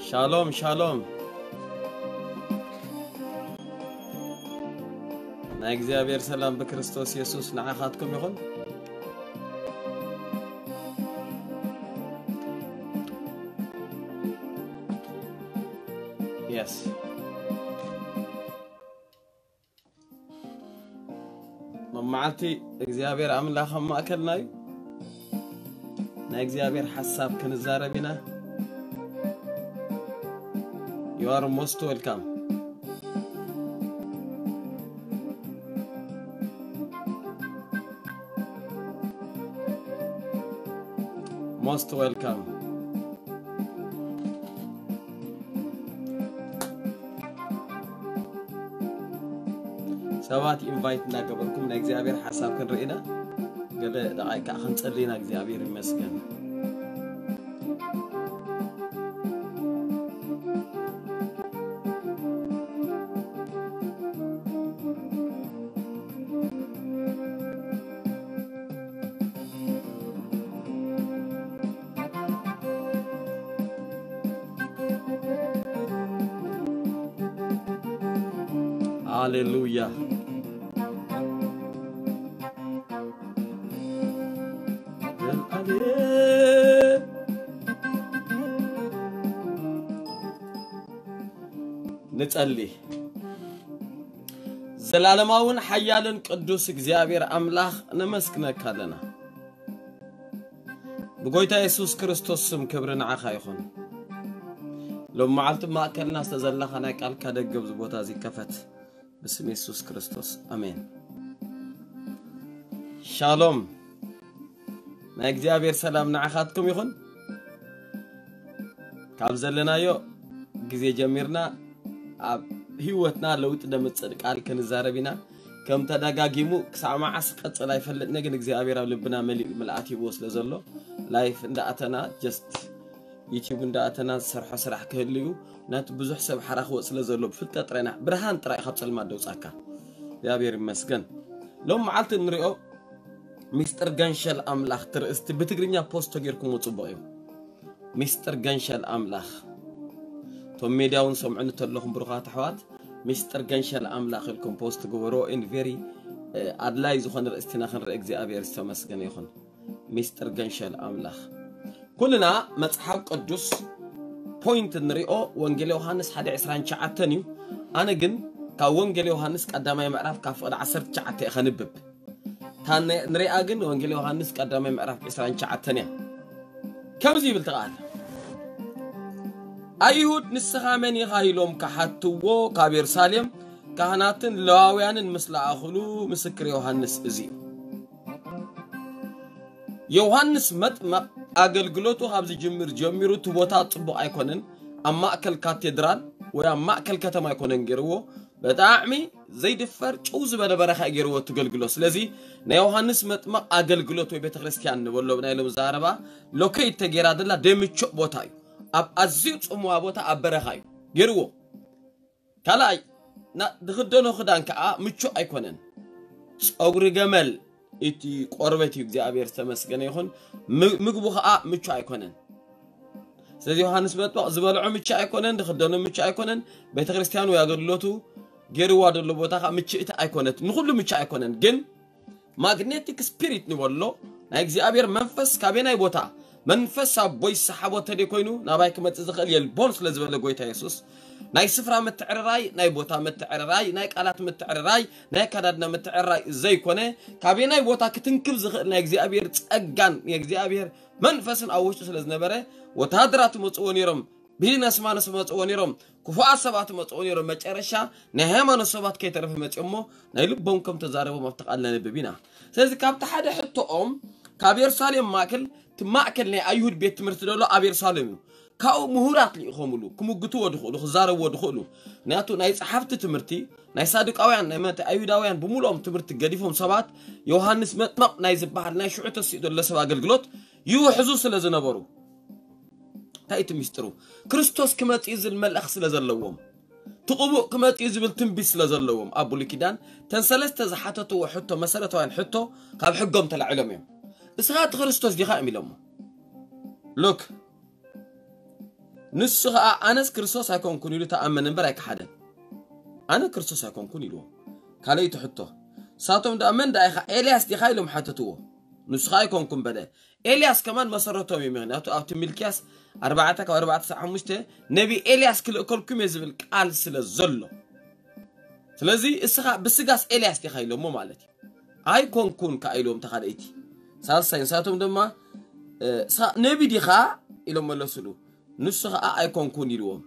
ሻሎም ሻሎም። ናይ እግዚኣብሔር ሰላም ብክርስቶስ የሱስ ንዓኻትኩም ይኹን። የስ መማዓልቲ እግዚኣብሔር ኣምላኽ ኣብ ማእከልና እዩ። ናይ እግዚኣብሔር ሓሳብ ክንዛረብ ኢና። You are most welcome. Most welcome. ሰባት ኢንቫይት እናገበርኩም ናይ እግዚኣብሔር ሓሳብ ክንርኢ ኢና። ገለ ደቓይ ከዓ ክንጸሊ ኢና። እግዚኣብሔር ይመስገን። ሃሌሉያ። ንጸሊ። ዘላለማውን ሓያልን ቅዱስ እግዚኣብሔር ኣምላኽ ነመስግነካ ኣለና። ብጎይታ የሱስ ክርስቶስ ስም ክብሪ ንዓኻ ይኹን። ሎም መዓልቲ ማእከልና ዝተዘላኻ ናይ ቃልካ ደገብ ዝቦታ እዚ ይከፈት። ብስም የሱስ ክርስቶስ ኣሜን። ሻሎም። ናይ እግዚኣብሔር ሰላም ንዓኻትኩም ይኹን። ካብ ዘለናዮ ግዜ ጀሚርና ኣብ ህይወትና ለውጢ ደምጽእ ቃል ክንዛረብ ኢና። ከም ተደጋጊሙ ክሳዕ መዓስ ክቐጽል ኣይፈልጥን፣ ግን እግዚኣብሔር ኣብ ልብና መሊኡ ምልኣት ሂብዎ ስለ ዘሎ፣ ላይፍ እንዳኣተና፣ ጀስት ዩቲዩብ እንዳኣተና ዝሰርሖ ስራሕ ክህልዩ፣ ነቲ ብዙሕ ሰብ ሓራ ክወጽእ ስለ ዘሎ፣ ብፍልጠት ጥራይ ኢና፣ ብርሃን ጥራይ ካብ ጸልማት ደውጻካ። እግዚኣብሔር ይመስገን። ሎም መዓልቲ እንሪኦ ሚስጥር ገንሸል ኣምላኽ ትርእስቲ ብትግርኛ ፖስት ተጌርኩሞ ጽቡቕ እዩ። ሚስጥር ገንሸል ኣምላኽ። እቶም ሜድያ እውን ሰምዑኒ ተለኹም ብሩኻት ኣሕዋት፣ ሚስጥር ገንሸል ኣምላኽ ኢልኩም ፖስት ግበሮ። ኢን ቬሪ ኣድላይ ዝኾነ ርእስቲና ክንርኢ እግዚኣብሔር ዝተመስገነ ይኹን። ሚስጥር ገንሸል ኣምላኽ። ኩልና መጽሓፍ ቅዱስ ፖይንት እንሪኦ ወንጌል ዮሃንስ ሓደ ዕስራን ትሽዓተን እዩ። ኣነ ግን ካብ ወንጌል ዮሃንስ ቀዳማይ ምዕራፍ ካብ ፍቕዲ ዓሰርተ ትሽዓተ እየ ከንብብ። እታ ነ-፣ ንሪኣ ግን ወንጌል ዮሃንስ ቀዳማይ ምዕራፍ ዕስራን ትሽዓተን እያ። ከምዚ ይብል ተቓል። ኣይሁድ ንስኻ መን ኢኻ ኢሎም ክሓትዎ ካብ የሩሳሌም ካህናትን ለዋውያንን ምስ ለኣኹሉ ምስክር ዮሃንስ እዚ እዩ። ዮሃንስ መጥመቕ ኣገልግሎቱ ካብ ዝጅምር ጀሚሩ እቲ ቦታ ጽቡቕ ኣይኮነን። ኣብ ማእከል ካቴድራል ወይ ኣብ ማእከል ከተማ ኣይኮነን ገይርዎ። ብጣዕሚ ዘይድፈር ጭው ዝበለ በረኻ እዩ ገይርዎ እቲ ኣገልግሎት። ስለዚ ናይ ዮሃንስ መጥመቕ ኣገልግሎት ወይ ቤተ ክርስቲያን ንበሎ ብናይ ሎም ዘረባ ሎኬት ተገይራ ዘላ ደምቹእ ቦታ እዩ። ኣብ ኣዝዩ ጽምዋ ቦታ ኣብ በረኻ እዩ ገይርዎ። ካልኣይ ና-፣ ዝኽደኖ ክዳን ከዓ ምቹእ ኣይኮነን። ጸጉሪ ገመል እቲ ቆርበት እዩ። እግዚኣብሔር ዝተመስገነ ይኹን። ም-፣ ምግቡ ከዓ ምቹእ ኣይኮነን። ስለዚ ዮሃንስ መጥምቕ ዝበልዖ ምቹእ ኣይኮነን፣ ዝኽደኖ ምቹእ ኣይኮነን። ቤተ ክርስቲያን ወይ ኣገልግሎቱ ገይርዋ ዘሎ ቦታ ከዓ ምችእቲ ኣይኮነት። ንኹሉ ምቹእ ኣይኮነን፣ ግን ማግኔቲክ ስፒሪት ንበሎ ናይ እግዚኣብሔር መንፈስ ካበየናይ ቦታ መንፈስ ኣቦይ ዝሰሓቦ ተደይ ኮይኑ ናባይ ክመጽእ ዝኽእል የልቦን ስለ ዝበለ ጎይታ የሱስ ናይ ስፍራ ምትዕርራይ፣ ናይ ቦታ ምትዕርራይ፣ ናይ ቃላት ምትዕርራይ፣ ናይ ኣከዳድና ምትዕርራይ ዘይኮነ ካበየናይ ቦታ ክትንክብ ዝኽእል ናይ እግዚኣብሔር ጸጋን ናይ እግዚኣብሔር መንፈስን ኣብ ውሽጡ ስለ ዝነበረ ወታሃደራት ይመጽእዎ ነይሮም። ቢዝነስማንስ መጽእዎ ነይሮም፣ ክፉኣት ሰባት መጽእዎ ነይሮም። መጨረሻ ናይ ሃይማኖት ሰባት ከይተረፈ መጽኦሞ ናይ ልቦም ከም ተዛረቦም ኣብቲ ቃል ነንብብ ኢና። ስለዚ ካብቲ ሓደ ሕቶኦም ካብ የሩሳሌም ማእከል እቲ ማእከል ናይ ኣይሁድ ቤት ትምህርቲ ዘሎ ኣብ የሩሳሌም እዩ። ካብኡ ምሁራት ልኢኾምሉ ክምግትዎ ድኽእሉ ክዛረብዎ ድኽእሉ። ምክንያቱ ናይ ጸሓፍቲ ትምህርቲ ናይ ሳዱቃውያን ናይ መተ ኣይሁዳውያን ብምሉኦም ትምህርቲ ገዲፎም ሰባት ዮሃንስ መጥመቕ ናይ ዝበሃል ናይ ሽዑ ተሲኡ ዘሎ ሰብ ኣገልግሎት ይውሕዙ ስለ ዝነበሩ እንታይ እቲ ሚስጥሩ? ክርስቶስ ክመጽእ እዩ ዝብል መልእኽ ስለ ዘለዎም፣ እቲ ቅቡእ ክመጽእ እዩ ዝብል ትንቢት ስለ ዘለዎም፣ ኣብ ብሉይ ኪዳን እተን ሰለስተ ዝሓተትዎ ሕቶ፣ መሰረታውያን ሕቶ ካብ ሕጎም ተላዒሎም እዮም። እስኻ እቲ ክርስቶስ ዲኻ እዮም ኢሎሞ። ሉክ፣ ንሱ ኸኣ ኣነስ ክርስቶስ ኣይኮንኩን ኢሉ ተኣመነ እምበር ኣይከሓደን። ኣነ ክርስቶስ ኣይኮንኩን ኢልዎም። ካልኣይቲ ሕቶ፣ ንሳቶም ደኣ መን ደኣ ኢኻ? ኤልያስ ዲኻ? ኢሎም ሓተትዎ። ንሱ ኸኣ ኣይኮንኩን በለ። ኤልያስ ከማን መሰረቶም እዩ። ምኽንያቱ ኣብቲ ሚልክያስ ኣርባዕተ ካብ ኣርባዕተ ክሳብ ሓሙሽተ ነቢ ኤልያስ ክልእከልኩም እየ ዝብል ቃል ስለ ዘሎ። ስለዚ እስኻ ብስጋስ ኤልያስ ዲኻ ኢሎሞ ማለት እዩ። ኣይኮንኩን ከኣ ኢልዎም ተኻልእቲ። ሳልሳይ ንሳቶም ድማ፣ እ፣ እስኻ ነቢ ዲኻ ኢሎም መለሱሉ። ንሱ ኸኣ ኣይኮንኩን ኢልዎም።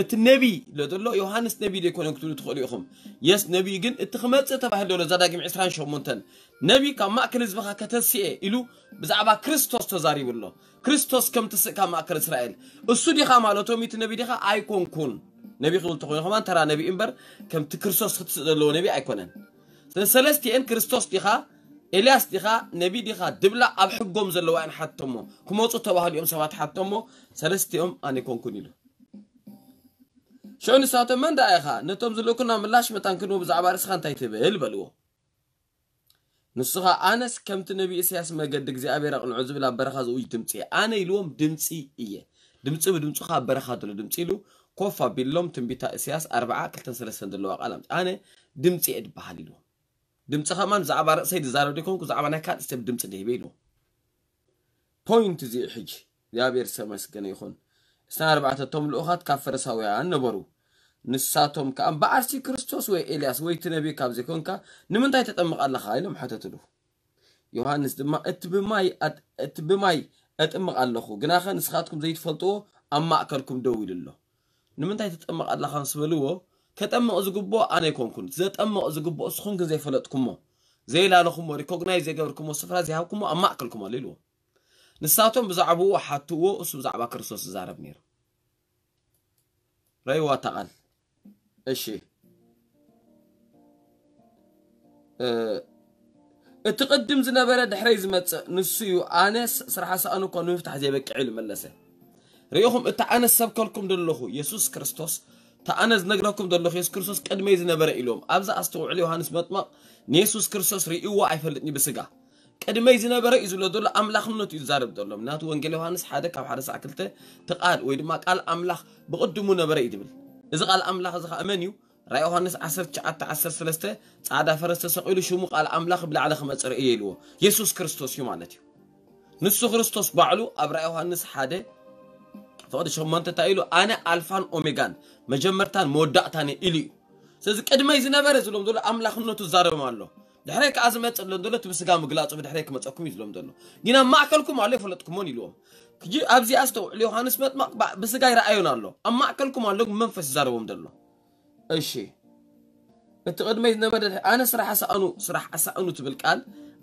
እቲ ነቢ ኢሎ ዘሎ ዮሃንስ ነቢ ዶ ኣይኮነን ክትብሉ ትኽእሉ ኢኹም። የስ ነቢ ግን እቲ ክመጽእ ተባሂሉ ዘሎ እዛ ዳግም ዕስራን ሸሞንተን ነቢ ካብ ማእከል ህዝብኻ ከተስኤ ኢሉ ብዛዕባ ክርስቶስ ተዛሪቡ ኣሎ። ክርስቶስ ከም ትስእ ካብ ማእከል እስራኤል። እሱ ዲኻ ማለቶም እቲ ነቢ ዲኻ? ኣይኮንኩን። ነቢ ክብል ተኾይኑ ከማን ተራ ነቢ እምበር ከምቲ ክርስቶስ ክትስእ ዘለዎ ነቢ ኣይኮነን። ስለ ሰለስቲኤን ክርስቶስ ዲኻ? ኤልያስ ዲኻ? ነቢ ዲኻ? ድብላ ኣብ ሕጎም ዘለዋ እየን ሓቶሞ። ክመጹ ተባህሉ እዮም ሰባት ሓቶሞ። ሰለስቲኦም ኣነ ኣይኮንኩን ኢሉ። ሽዑ ንሳቶም መን ደኣ ኢኻ? ነቶም ዝልእኩና ምላሽ መታን ክንህቦ ብዛዕባ ርእስኻ እንታይ ትብል? በልዎ። ንሱ ኸኣ ኣነስ ከምቲ ነቢ ኢሳያስ መገዲ እግዚኣብሔር ኣቕንዑ ዝብል ኣብ በረኻ ዝእውጅ ድምጺ እየ። ኣነ ኢልዎም ድምጺ እየ። ድምጺ ብድምጹ ኸኣ ኣብ በረኻ ዘሎ ድምጺ ኢሉ ኮፍ ኣቢሎም ትንቢታ ኢሳያስ ኣርብዓ ክልተን ሰለስተን ዘለዋ ቃል ኣምጽእ። ኣነ ድምጺ እየ ድበሃል ኢልዎም። ድምጺ ኸማን ብዛዕባ ርእሰይ ዝዛረብ ዘይኮንኩ ብዛዕባ ናይ ካልእ ሰብ ድምጺ ድሂበ ኢልዎም። ፖይንት እዚ እዩ ሕጂ። እግዚኣብሔር ዝተመስገነ ይኹን። እሳን ኣርባዕተ እቶም ልኡኻት ካብ ፈሪሳውያን ነበሩ። ንሳቶም ከኣ እምበኣርሲ ክርስቶስ ወይ ኤልያስ ወይ እቲ ነቢ ካብ ዘይኮንካ ንምንታይ ተጠምቕ ኣለኻ? ኢሎም ሓተትሉ። ዮሃንስ ድማ እቲ ብማይ ኣጥ-፣ እቲ ብማይ እጥምቕ ኣለኹ፣ ግናኸ ንስኻትኩም ዘይትፈልጥዎ ኣብ ማእከልኩም ደው ኢሉ ኣሎ። ንምንታይ ትጥምቕ ኣለኻ ምስ በልዎ፣ ከጠምቕ ዝግብኦ ኣነ ኣይኮንኩን፣ ዘጠምቕ ዝግብኦ እስኹም ግን ዘይፈለጥኩሞ፣ ዘይላለኹሞ፣ ሪኮግናይዝ ዘይገበርኩሞ ስፍራ ዘይሃብኩሞ ኣብ ማእከልኩም ኣሎ ኢልዎ። ንሳቶም ብዛዕባኡ ሓትዎ፣ እሱ ብዛዕባ ክርስቶስ ዝዛረብ ነይሩ። ረይዋ እታ ቃል። እሺ። እ፣ እቲ ቅድም ዝነበረ ድሕረይ ዝመጽእ ንሱ እዩ፣ ኣነ ስ-፣ ስራሕ ሳእኑ እኳ ንምፍታሕ ዘይበቅዕ ኢሉ መለሰ። ርኢኹም፣ እቲ ኣነ ዝሰብከልኩም ዘለኹ የሱስ ክርስቶስ፣ እቲ ኣነ ዝነግረኩም ዘለኹ የሱስ ክርስቶስ ቅድመይ ዝነበረ ኢሎም። ኣብዚ ኣስተውዕሉ፣ ዮሃንስ መጥመቕ ንየሱስ ክርስቶስ ርእይዎ ኣይፈልጥን እዩ ብስጋ። ቅድመይ ዝነበረ እዩ ዝብሎ ዘሎ፣ ኣምላኽነቱ እዩ ዝዛረብ ዘሎ። ምክንያቱ ወንጌል ዮሃንስ ሓደ ካብ ሓደ ሳዕ ክልተ እቲ ቃል ወይ ድማ ቃል ኣምላኽ ብቕድሙ ነበረ እዩ ዝብል። እዚ ቃል ኣምላኽ እዚ ኸኣ መን እዩ? ራእይ ዮሃንስ ዓሰርተ ትሽዓተ ዓሰርተ ሰለስተ ጻዕዳ ፈረስ ተሰቒሉ ሽሙ ቃል ኣምላኽ ብላዕሊ ክመጽእ ርእየ ኢልዎ። የሱስ ክርስቶስ እዩ ማለት እዩ። ንሱ ክርስቶስ ባዕሉ ኣብ ራእይ ዮሃንስ ሓደ ፍቕዲ ሸሞንተ እንታይ ኢሉ? ኣነ ኣልፋን ኦሜጋን መጀመርታን መወዳእታን እየ ኢሉ እዩ። ስለዚ ቅድመይ ዝነበረ ዝብሎም ዘሎ ኣምላኽነቱ ዝዛረቦም ኣሎ። ድሕረይ ከኣ ዝመጽእ ዝብሎም ዘሎ እቲ ብስጋ ምግላጹ ብድሕረይ ክመጸኩም እዩ ዝብሎም ዘሎ። ግን ኣብ ማእከልኩም ኣሎ ይፈለጥኩሞን ኢልዎም። ሕጂ ኣብዚ ኣስተውዕሉ፣ ዮሃንስ መጥመቕ ባ-፣ ብስጋ ይረኣዮን ኣሎ። ኣብ ማእከልኩም ኣሎ ግን መንፈስ ይዛረቦም ዘሎ። እሺ። እቲ ቅድመይ ዝነበረ ድሕሪ-፣ ኣነ ስራሕ ኣሳእኑ፣ ስራሕ ኣሳእኑ ትብል ቃል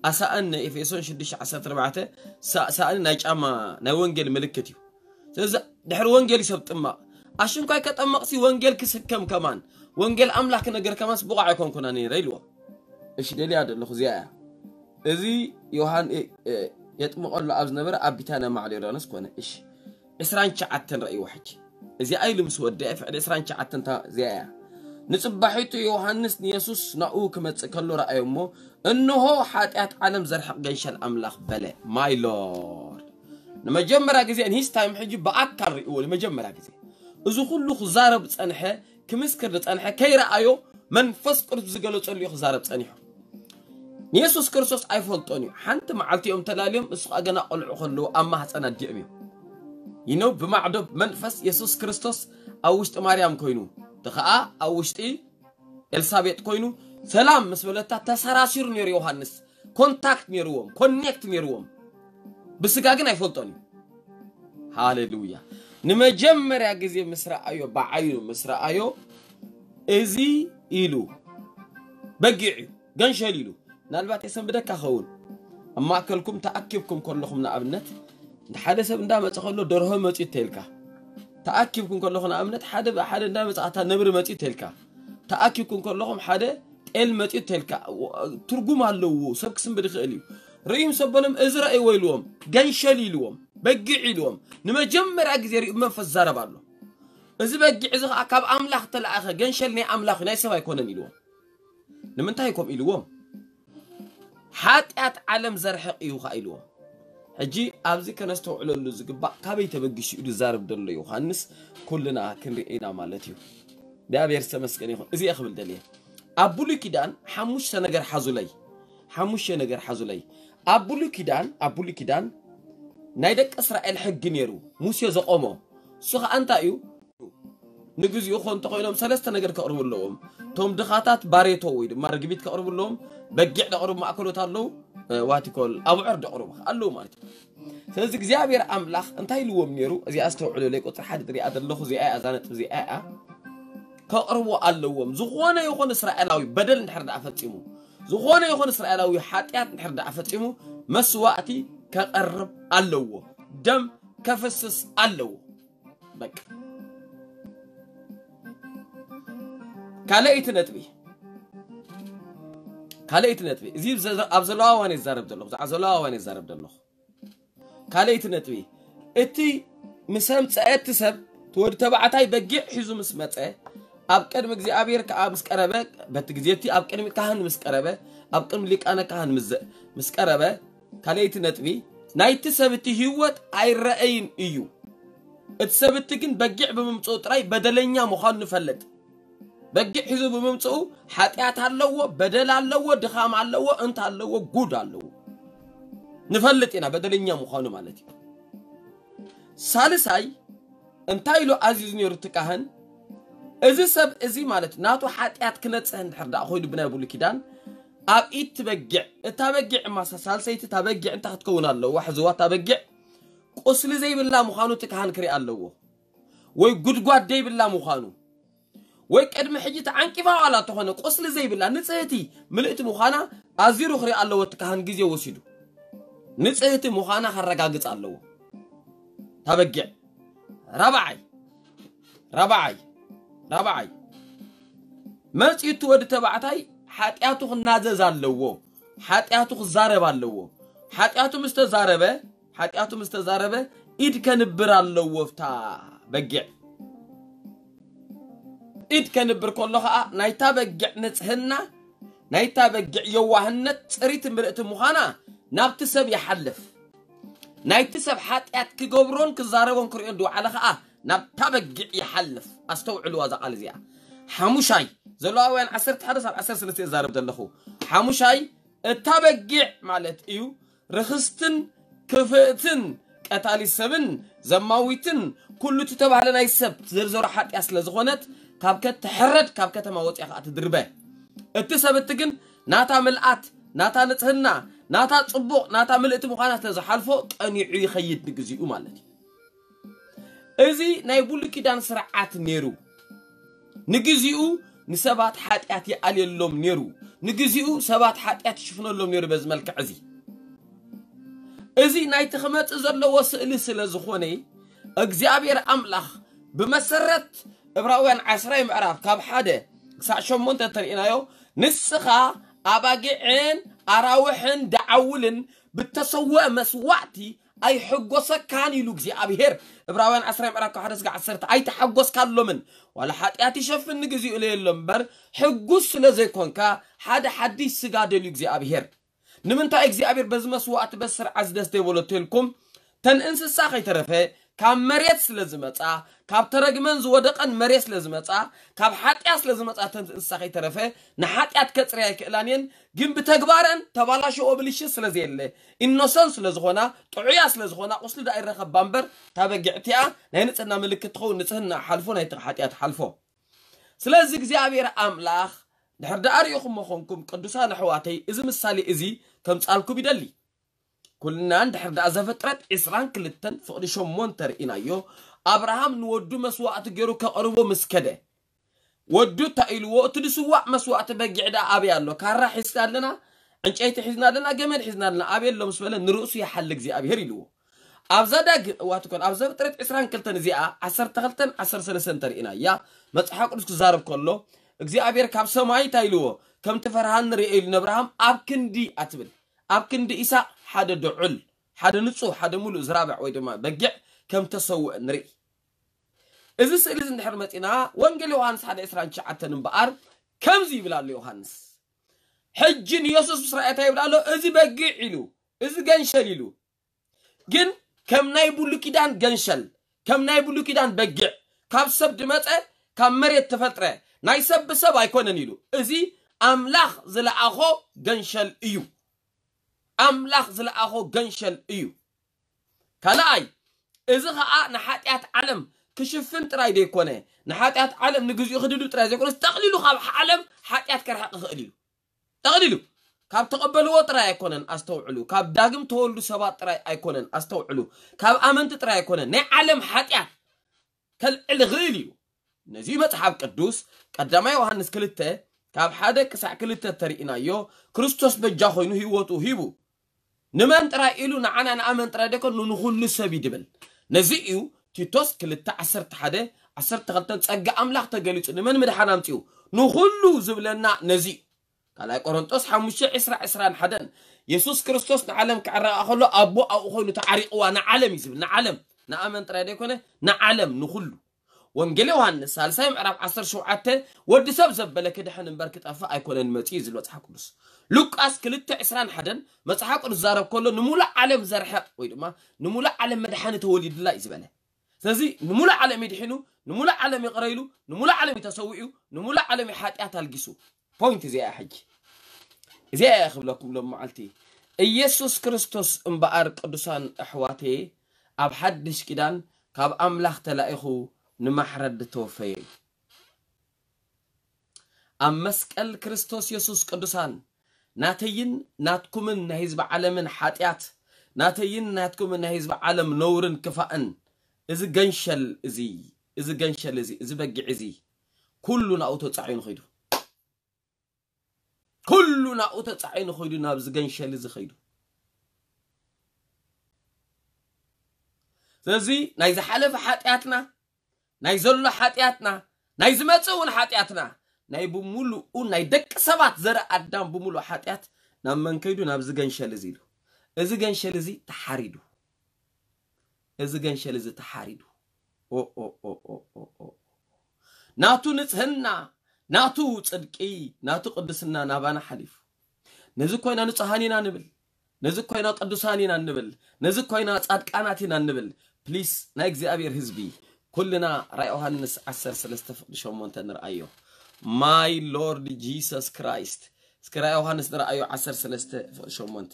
ኣሳእን ናይ ኤፌሶን ሽዱሽተ ዓሰርተ ኣርባዕተ ሳ-፣ ሳእኒ ናይ ጫማ ናይ ወንጌል ምልክት እዩ። ስለዚ ድሕሪ ወንጌል እዩ ሰብ ጥማቕ። ኣሽንኳይ ከጠመቕሲ ወንጌል ክስከም ከማን፣ ወንጌል ኣምላኽ ክነገር ከማንስ ብቑዕ ኣይኮንኩና ነይረ ኢልዎ። እሺ፣ ደልያ ዘለኹ እዚኣ እያ። እዚ ዮሃን-፣ እ-፣ እ-፣ የጥምቐሉ ኣብ ዝነበረ ኣብ ቢታንያ ማዕዶ ዮርዳኖስ ኮነ። እሺ፣ ዕስራን ትሽዓተን ረእይዎ ሕጂ። እዚኣ ኢሉ ምስ ወደአ ፍቕዲ ዕስራን ትሽዓተን እታ እዚኣ እያ። ንጽባሒቱ ዮሃንስ ንየሱስ ናብኡ ክመጽእ ከሎ ረኣዮ እሞ፣ እንሆ ሓጢኣት ዓለም ዘርሕቕ ገንሸል ኣምላኽ በለ። ማይ ሎርድ። ንመጀመርያ ግዜ in his time ሕጂ ብኣካል ርእይዎ ንመጀመርያ ግዜ። እዚ ኩሉ ክዛረብ ዝጸንሐ፣ ክምስክር ዝጸንሐ፣ ከይረኣዮ መንፈስ ቅዱስ ዝገለጸሉ እዩ ክዛረብ ጸኒሑ። ንየሱስ ክርስቶስ ኣይፈልጦን እዩ። ሓንቲ መዓልቲ እዮም ተላልዮም፣ እሱ ኸኣ ገና ቆልዑ ከለዉ ኣብ ማህፀን ኣዲኦም እዮም። ይነው ብማዕዶ መንፈስ የሱስ ክርስቶስ ኣብ ውሽጢ ማርያም ኮይኑ፣ እቲ ኸኣ ኣብ ውሽጢ ኤልሳቤጥ ኮይኑ፣ ሰላም ምስ በለታ ተሰራሲሩ ነይሩ ዮሃንስ። ኮንታክት ነይርዎም፣ ኮኔክት ነይርዎም። ብስጋ ግን ኣይፈልጦን እዩ። ሃሌሉያ። ንመጀመርያ ግዜ ምስ ረኣዮ፣ ብዓይኑ ምስ ረኣዮ፣ እዚ ኢሉ በጊዕ እዩ፣ ገንሸል ኢሉ። ምናልባት የሰንብደካ ኸውን። ኣብ ማእከልኩም ተኣኪብኩም ከለኹም፣ ንኣብነት፣ እንተ ሓደ ሰብ እንዳመጸ ከሎ፣ ደርሆ መጺኡ ተልካ። ተኣኪብኩም ከለኹም፣ ንኣብነት፣ ሓደ ብሓደ እንዳመጸ፣ ኣታ ነብሪ መጺኡ ተልካ። ተኣኪብኩም ከለኹም፣ ሓደ ጤል መጺኡ ተልካ። ትርጉም ኣለዎ፣ ሰብ ክስንብድ ይኽእል እዩ። ርእዩ ምስ ኣበሎም፣ እዚ ረእይዎ ኢልዎም፣ ገንሸል ኢልዎም፣ በጊዕ ኢልዎም። ንመጀመርያ ግዜ ርእዩ ብመንፈስ ዝዛረብ ኣሎ። እዚ በጊዕ እዚ ኸኣ ካብ ኣምላኽ ተለኣኸ፣ ገንሸል ናይ ኣምላኽ ናይ ሰብ ኣይኮነን ኢልዎም። ንምንታይ ከምኡ ኢልዎም? ሓጢኣት ዓለም ዘርሕቕ እዩ ኸኣ ኢልዎም። ሕጂ ኣብዚ ከነስተውዕለሉ ዝግባእ ካበይ ተበጊሱ እዩ ዝዛረብ ዘሎ ዮሃንስ ኩልና ክንርኢ ኢና ማለት እዩ። እግዚኣብሔር ዝተመስገነ ይኹን። እዚ እየ ክብል ደልየ። ኣብ ብሉይ ኪዳን ሓሙሽተ ነገር ሓዙለይ፣ ሓሙሽተ ነገር ሓዙለይ። ኣብ ብሉይ ኪዳን፣ ኣብ ብሉይ ኪዳን ናይ ደቂ እስራኤል ሕጊ ነይሩ፣ ሙሴ ዘቆሞ። እሱ ኸዓ እንታይ እዩ? ንግዚኡ ኮ እንተኾይኖም ሰለስተ ነገር ከቕርቡ ኣለዎም። እቶም ድኻታት ባሬቶ ወይ ድማ ርግቢት ከቕርቡ ኣለዎም። በጊዕ ደቕርቡ ማእከሎት ኣለዉ። ዋቲኮል ኣብዑር ደቕርቡ ኣለዉ ማለት እዩ። ስለዚ እግዚኣብሔር ኣምላኽ እንታይ ኢልዎም ነይሩ? እዚኣ ኣስተውዕሉለይ፣ ቁፅሪ ሓደ ዝሪኣ ዘለኹ እዚኣ እያ፣ እዛ ነጥብ እዚኣ እያ። ከቕርቡ ኣለዎም። ዝኾነ ይኹን እስራኤላዊ በደል እንድሕር ደኣ ፈጺሙ፣ ዝኾነ ይኹን እስራኤላዊ ሓጢኣት እንድሕር ደኣ ፈጺሙ፣ መስዋእቲ ከቐርብ ኣለዎ። ደም ከፍስስ ኣለዎ። በቃ። ካልኣይቲ ነጥቢ፣ ካልኣይቲ ነጥቢ፣ እዚ ዘ-፣ ኣብ ዘለዋ እዋን ይዛረብ ዘለኹ፣ ብዛዕባ ዘለዋ እዋን ይዛረብ ዘለኹ። ካልኣይቲ ነጥቢ፣ እቲ ምስ ኣምፀአ እቲ ሰብ፣ እቲ ወዲ ተባዕታይ በጊዕ ሒዙ ምስ መፀ፣ ኣብ ቅድሚ እግዚኣብሔር ከዓ ምስ ቀረበ፣ በቲ ግዜ እቲ ኣብ ቅድሚ ካህን ምስ ቀረበ፣ ኣብ ቅድሚ ሊቃነ ካህን ምስ ዘ-፣ ምስ ቀረበ፣ ካልኣይቲ ነጥቢ፣ ናይቲ ሰብ እቲ ህይወት ኣይረኣይን እዩ። እቲ ሰብ እቲ ግን በጊዕ ብምምፅኡ ጥራይ በደለኛ ምዃኑ ንፈልጥ። በጊዕ ሒዙ ብምምፅኡ ሓጢኣት ኣለዎ፣ በደል ኣለዎ፣ ድኻም ኣለዎ፣ እንት ኣለዎ፣ ጉድ ኣለዎ። ንፈልጥ ኢና በደለኛ ምዃኑ ማለት እዩ። ሳልሳይ፣ እንታይ ኢሉ ኣዚዙ ነይሩ እቲ ካህን? እዚ ሰብ እዚ ማለት ናቱ ሓጢኣት ክነጽህ እንድሕር ደኣ ኮይኑ ብናይ ብሉይ ኪዳን ኣብ ኢድ ትበጊዕ፣ እታ በጊዕ ማሳ ሳልሰይቲ እታ በጊዕ እንታይ ክትከውን ኣለዋ? ሕዝዋ እታ በጊዕ ቁስሊ ዘይብላ ምዃኑ እቲ ካህን ክርኢ ኣለዎ። ወይ ጉድጓድ ዘይብላ ምዃኑ፣ ወይ ቅድሚ ሕጂ ተዓንቂፋ ዋላ ተኾነ ቁስሊ ዘይብላ ንጽህቲ ምልእቲ ምዃና ኣዚሩ ክርኢ ኣለዎ እቲ ካህን ግዜ ወሲዱ። ንጽህቲ ምዃና ከረጋግጽ ኣለዎ። እታ በጊዕ። ራብዓይ፣ ራብዓይ፣ ራብዓይ። መጺኡ እቲ ወዲ ተባዕታይ ሓጢኣቱ ክናዘዝ ኣለዎ። ሓጢኣቱ ክዛረብ ኣለዎ። ሓጢኣቱ ምስ ተዛረበ፣ ሓጢኣቱ ምስ ተዛረበ፣ ኢድ ከንብር ኣለዎ ኣብታ በጊዕ። ኢድ ከንብር ከሎ ኸኣ ናይታ በጊዕ ንጽህና፣ ናይታ በጊዕ የዋህነት፣ ጽሪት ምልእቲ ምዃና ናብቲ ሰብ ይሓልፍ። ናይቲ ሰብ ሓጢኣት ክገብሮን ክዛረቦን ክርእዮን ዝወዓለ ኸኣ ናብታ በጊዕ ይሓልፍ። ኣስተውዕልዋ እዛ ቃል እዚኣ። ሓሙሻይ፣ ዘለዋውያን ዓሰርተ ሓደ ሳብ ዓሰርተ ሰለስተ እዛረብ ዘለኹ። ሓሙሻይ፣ እታ በጊዕ ማለት እዩ፣ ርኽስትን ክፍእትን ቀታሊ ሰብን ዘማዊትን ኩሉ እቲ ተባህለ ናይ ሰብ ዝርዘሮ ሓጢኣት ስለ ዝኾነት፣ ካብ ከትሕረድ፣ ካብ ከተማ ወፂኣ ኸዓ ትድርበ። እቲ ሰብ እቲ ግን ናታ ምልኣት፣ ናታ ንጽህና፣ ናታ ጽቡቕ፣ ናታ ምልእቲ ምዃና ስለ ዝሓልፎ፣ ቀኒዑ ይኸይድ ንግዚኡ ማለት እዩ። እዚ ናይ ብሉይ ኪዳን ስርዓት ነይሩ። ንግዚኡ ንሰባት ሓጢኣት ይኣልየሎም ነይሩ። ንግዚኡ ሰባት ሓጢኣት ይሽፍነሎም ነይሩ በዚ መልክዕ እዚ። እዚ ናይቲ ክመጽእ ዘለዎ ስእሊ ስለ ዝኾነ፣ እግዚኣብሔር ኣምላኽ ብመሰረት ዕብራውያን ዓስራይ ምዕራፍ ካብ ሓደ ክሳዕ ሸሞንተ እንተርኢናዮ፣ ንስኻ ኣባጊዕን ኣራውሕን ደዓውልን ብተሰውአ መስዋዕቲ ኣይሕጎሰካን ኢሉ እግዚኣብሔር። ዕብራውያን ዓስራይ ምዕራፍ ካብ ሓደ እስከ ዓሰርተ ኣይተሓጎስካሎምን። ዋላ ሓጢኣት ይሸፍን ንግዚኡ ኢለየሎ እምበር፣ ሕጉስ ስለ ዘይኮንካ ሓደ ሓድሽ ስጋ ደልዩ እግዚኣብሔር። ንምንታይ እግዚኣብሔር በዚ መስዋዕቲ በዚ ስርዓት እዚ ደስ ዘይበሎ ተልኩም? ተን እንስሳ ከይተረፈ ካብ መሬት ስለ ዝመጻ፣ ካብ ተረግመን ዝወደቐን መሬት ስለ ዝመጻ፣ ካብ ሓጢኣት ስለ ዝመጻ፣ ተን እንስሳ ከይተረፈ ንሓጢኣት ከጽርያ ኣይክእላን እየን። ግን ብተግባረን ተባላሸዎ ብልሽት ስለ ዘየለ፣ ኢኖሰንት ስለ ዝኾና፣ ጥዑያ ስለ ዝኾና፣ ቁስሊ ደኣ ይረኸባ እምበር፣ እታ በጊዕ እቲኣ ናይ ንጽህና ምልክት ትኸውን፣ ንጽህና ሓልፎ፣ ናይቲ ሓጢኣት ሓልፎ። ስለዚ እግዚኣብሔር ኣምላኽ ድሕር ደኣ ርኢኹሞ ኾንኩም ቅዱሳን ኣሕዋተይ፣ እዚ ምሳሌ እዚ ከምጻልኩም ይደሊ። ኩልና እንድሕር ደኣ ዘፍጥረት ዕስራን ክልተን ፍቕዲ ሸሞንተ ርኢናዮ፣ ኣብርሃም ንወዱ መስዋዕቲ ገይሩ ከቕርቦ ምስ ከደ፣ ወዱ እንታይ ኢልዎ? እቲ ዝስዋዕ መስዋዕቲ በጊዕ ደኣ ኣበይ ኣሎ? ካራ ሒዝና ኣለና፣ ዕንጨይቲ ሒዝና ኣለና፣ ገመድ ሒዝና ኣለና፣ ኣበይ ኣሎ ምስ በለ፣ ንርእሱ ይሓል እግዚኣብሔር ኢልዎ። ኣብ ዘዳግም፣ እዋ ትኮን፣ ኣብ ዘፍጥረት ዕስራን ክልተን እዚኣ፣ ዓሰርተ ክልተን ዓሰርተ ሰለስተን ተርኢና እያ። መጽሓፍ ቅዱስ ክዛረብ ከሎ፣ እግዚኣብሔር ካብ ሰማይ እንታይ ኢልዎ? ከምቲ ፈርሃን ንርእዮ ኢሉ ንኣብርሃም ኣብ ክንዲ ኣትብል። ኣብ ክንዲ ኢሳቅ ሓደ ድዑል፣ ሓደ ንጹህ፣ ሓደ ሙሉእ ዝራብዕ ወይ ድማ በጊዕ ከም ተሰውአ ንርኢ። እዚ ስእሊ እዚ እንድሕር መጺና፣ ወንጌል ዮሃንስ ሓደ ዕስራን ትሽዓተን እምበኣር ከምዚ ይብል ኣሎ ዮሃንስ። ሕጂ ንየሱስ ምስ ረኣየ እንታይ ይብል ኣሎ? እዚ በጊዕ ኢሉ፣ እዚ ገንሸል ኢሉ። ግን ከም ናይ ብሉይ ኪዳን ገንሸል፣ ከም ናይ ብሉይ ኪዳን በጊዕ፣ ካብ ሰብ ድመጸ፣ ካብ መሬት ተፈጥረ፣ ናይ ሰብ ብሰብ ኣይኮነን ኢሉ። እዚ ኣምላኽ ዝለኣኾ ገንሸል እዩ። ኣምላኽ ዝለኣኾ ገንሸል እዩ። ካልኣይ፣ እዚ ኸኣ ንሓጢኣት ዓለም ክሽፍን ጥራይ ዘይኮነ፣ ንሓጢኣት ዓለም ንግዚኡ ክድዱ ጥራይ ዘይኮነ፣ ጠቕሊሉ ካብ ዓለም ሓጢኣት ከርሕቕ ይኽእል እዩ። ጠቕሊሉ ካብ ተቐበልዎ ጥራይ ኣይኮነን፣ ኣስተውዕሉ። ካብ ዳግም ተወልዱ ሰባት ጥራይ ኣይኮነን፣ ኣስተውዕሉ። ካብ ኣመንቲ ጥራይ ኣይኮነን፣ ናይ ዓለም ሓጢኣት ከልዕል ይኽእል እዩ። ነዚ መጽሓፍ ቅዱስ ቀዳማይ ዮሃንስ ክልተ ካብ ሓደ ክሳዕ ክልተ ተርእናዮ፣ ክርስቶስ በጃ ኮይኑ ህይወቱ ሂቡ። ንመን ጥራይ ኢሉ? ንዓና ንኣመን ጥራይ ደይኮን ንኹሉ ሰብ እዩ ድብል። ነዚ እዩ ቲቶስ ክልተ ዓሰርተ ሓደ ዓሰርተ ክልተ ጸጋ ኣምላኽ ተገሊጹ ንመን ምድሓን ኣምጺኡ? ንኹሉ ዝብለና ነዚ እዩ። ካልኣይ ቆሮንጦስ ሓሙሽተ ዕስራ ዕስራን ሓደን የሱስ ክርስቶስ ንዓለም ክዕረቓ ከሎ ኣቦ ኣብኡ ኮይኑ ተዓሪቕዋ ንዓለም እዩ ዝብል። ንዓለም ንኣመን ጥራይ ደይኮነ ንዓለም ንኹሉ። ወንጌል ዮሃንስ ሳልሳይ ምዕራፍ ዓሰርተ ሸውዓተ ወዲ ሰብ ዘበለ ክድሕን እምበር ክጠፍእ ኣይኮነን መጺኡ እዩ ዝብል መጽሓፍ ቅዱስ። ሉቃስ ክልተ ዕስራን ሓደን መጽሓፍ ቅዱስ ዛረብ ከሎ ንሙሉእ ዓለም ዘርሕቕ ወይ ድማ ንሙሉእ ዓለም መድሓኒ ተወሊዱላ እዩ ዝበለ። ስለዚ ንሙሉእ ዓለም ይድሕኑ፣ ንሙሉእ ዓለም ይቕረይሉ፣ ንሙሉእ ዓለም ይተሰዊኡ፣ ንሙሉእ ዓለም ሓጢኣት ኣልጊሱ። ፖይንት እዚኣ ሕጂ እዚኣ እያ ክብለኩም ሎም መዓልቲ ኢየሱስ ክርስቶስ እምበኣር ቅዱሳን ኣሕዋቴ ኣብ ሓድሽ ኪዳን ካብ ኣምላኽ ተላኢኹ ንማሕረድ ዝተወፈየ እዩ። ኣብ መስቀል ክርስቶስ የሱስ ቅዱሳን ናተይን ናትኩምን ናይ ህዝቢ ዓለምን ሓጢኣት ናተይን ናትኩምን ናይ ህዝቢ ዓለም ነውርን ክፋእን እዚ ገንሸል እዚ እዚ ገንሸል እዚ እዚ በጊዕ እዚ ኩሉ ናብኡ ተጻዒኑ ኸይዱ። ኩሉ ናብኡ ተጻዒኑ ኸይዱ፣ ናብዚ ገንሸል እዚ ኸይዱ። ስለዚ ናይ ዝሓለፈ ሓጢኣትና፣ ናይ ዘሎ ሓጢኣትና፣ ናይ ዝመጽእ እውን ሓጢኣትና፣ ናይ ብምሉኡ ናይ ደቂ ሰባት ዘርኢ ኣዳም ብምሉእ ሓጢኣት ናብ መን ከይዱ? ናብዚ ገንሸል እዚ ኢሉ። እዚ ገንሸል እዚ ተሓሪዱ። እዚ ገንሸል እዚ ተሓሪዱ። ኦ፣ ኦ፣ ኦ፣ ኦ፣ ኦ፣ ኦ። ናቱ ንጽህና፣ ናቱ ጽድቂ፣ ናቱ ቅድስና ናባና ሓሊፉ። ነዚ ኮይና ንጹሃን ኢና ንብል፣ ነዚ ኮይና ቅዱሳን ኢና ንብል፣ ነዚ ኮይና ጻድቃናት ኢና ንብል። ፕሊስ ናይ እግዚኣብሔር ህዝቢ ኩልና ራእይ ዮሃንስ ዓሰርተ ሰለስተ ፍቕዲ ሸሞንተ ንርኣዮ። My Lord Jesus Christ። እስኪ ራእይ ዮሃንስ ንርኣዮ ዓሰርተ ሰለስተ ፍቕዲ ሸሞንተ።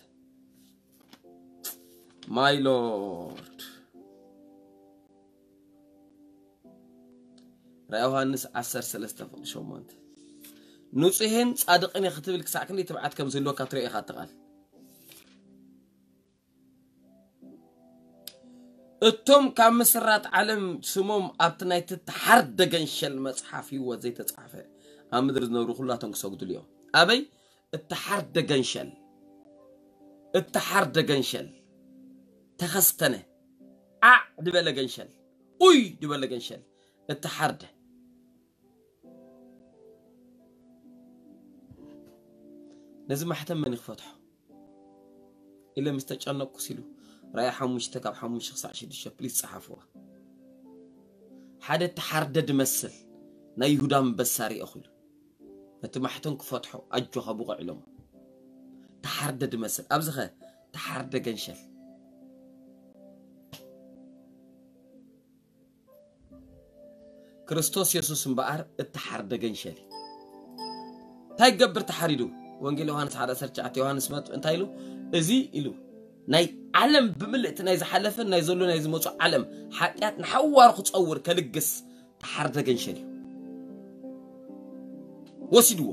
My Lord። ራእይ ዮሃንስ ዓሰርተ ሰለስተ ፍቕዲ ሸሞንተ። ንጹሄን ጻድቕን እየ ክትብል ክሳዕ ክንደይ ትብዓት ከም ዝህልወካ ትርኢ ኢኻ እቲ ቃል። እቶም ካብ ምስራት ዓለም ስሞም ኣብቲ ናይቲ ተሓርደ ገንሸል መጽሓፍ ህይወት ዘይተጻሕፈ ኣብ ምድሪ ዝነብሩ ኩላቶም ክሰግዱሉ እዮም። ኣበይ? እተሓርደ ገንሸል፣ እተሓርደ ገንሸል ተኸስተነ፣ ዓዕ ድበለ ገንሸል፣ ኡይ ድበለ ገንሸል እተሓርደ። ነዚ ማሕተም መን ክፈትሖ ኢለ ምስ ተጨነቅኩስ ኢሉ ራእይ ሓሙሽተ ካብ ሓሙሽተ ክሳዕ ሽዱሽተ ፕሊስ ጸሓፍዋ። ሓደ ተሓርደ ድመስል ናይ ይሁዳ ኣንበሳ ሪኦ ኢሉ ነቲ ማሕተም ክፈትሖ ኣጆኻ ብቑዕ ኢሎም። ተሓርደ ድመስል ኣብዚ ኸ ተሓርደ ገንሸል። ክርስቶስ የሱስ እምበኣር እተሓርደ ገንሸል እዩ። እንታይ ይገብር ተሓሪዱ? ወንጌል ዮሃንስ ሓደ ዓሰርተ ትሽዓተ ዮሃንስ መጥ እንታይ ኢሉ? እዚ ኢሉ ናይ ዓለም ብምልእቲ ናይ ዝሓለፈን ናይ ዘሎ ናይ ዝመፁ ዓለም ሓጢኣት ንሓዋሩ ክፀውር ከልግስ ተሓርደ ገንሸል እዩ። ወሲድዎ።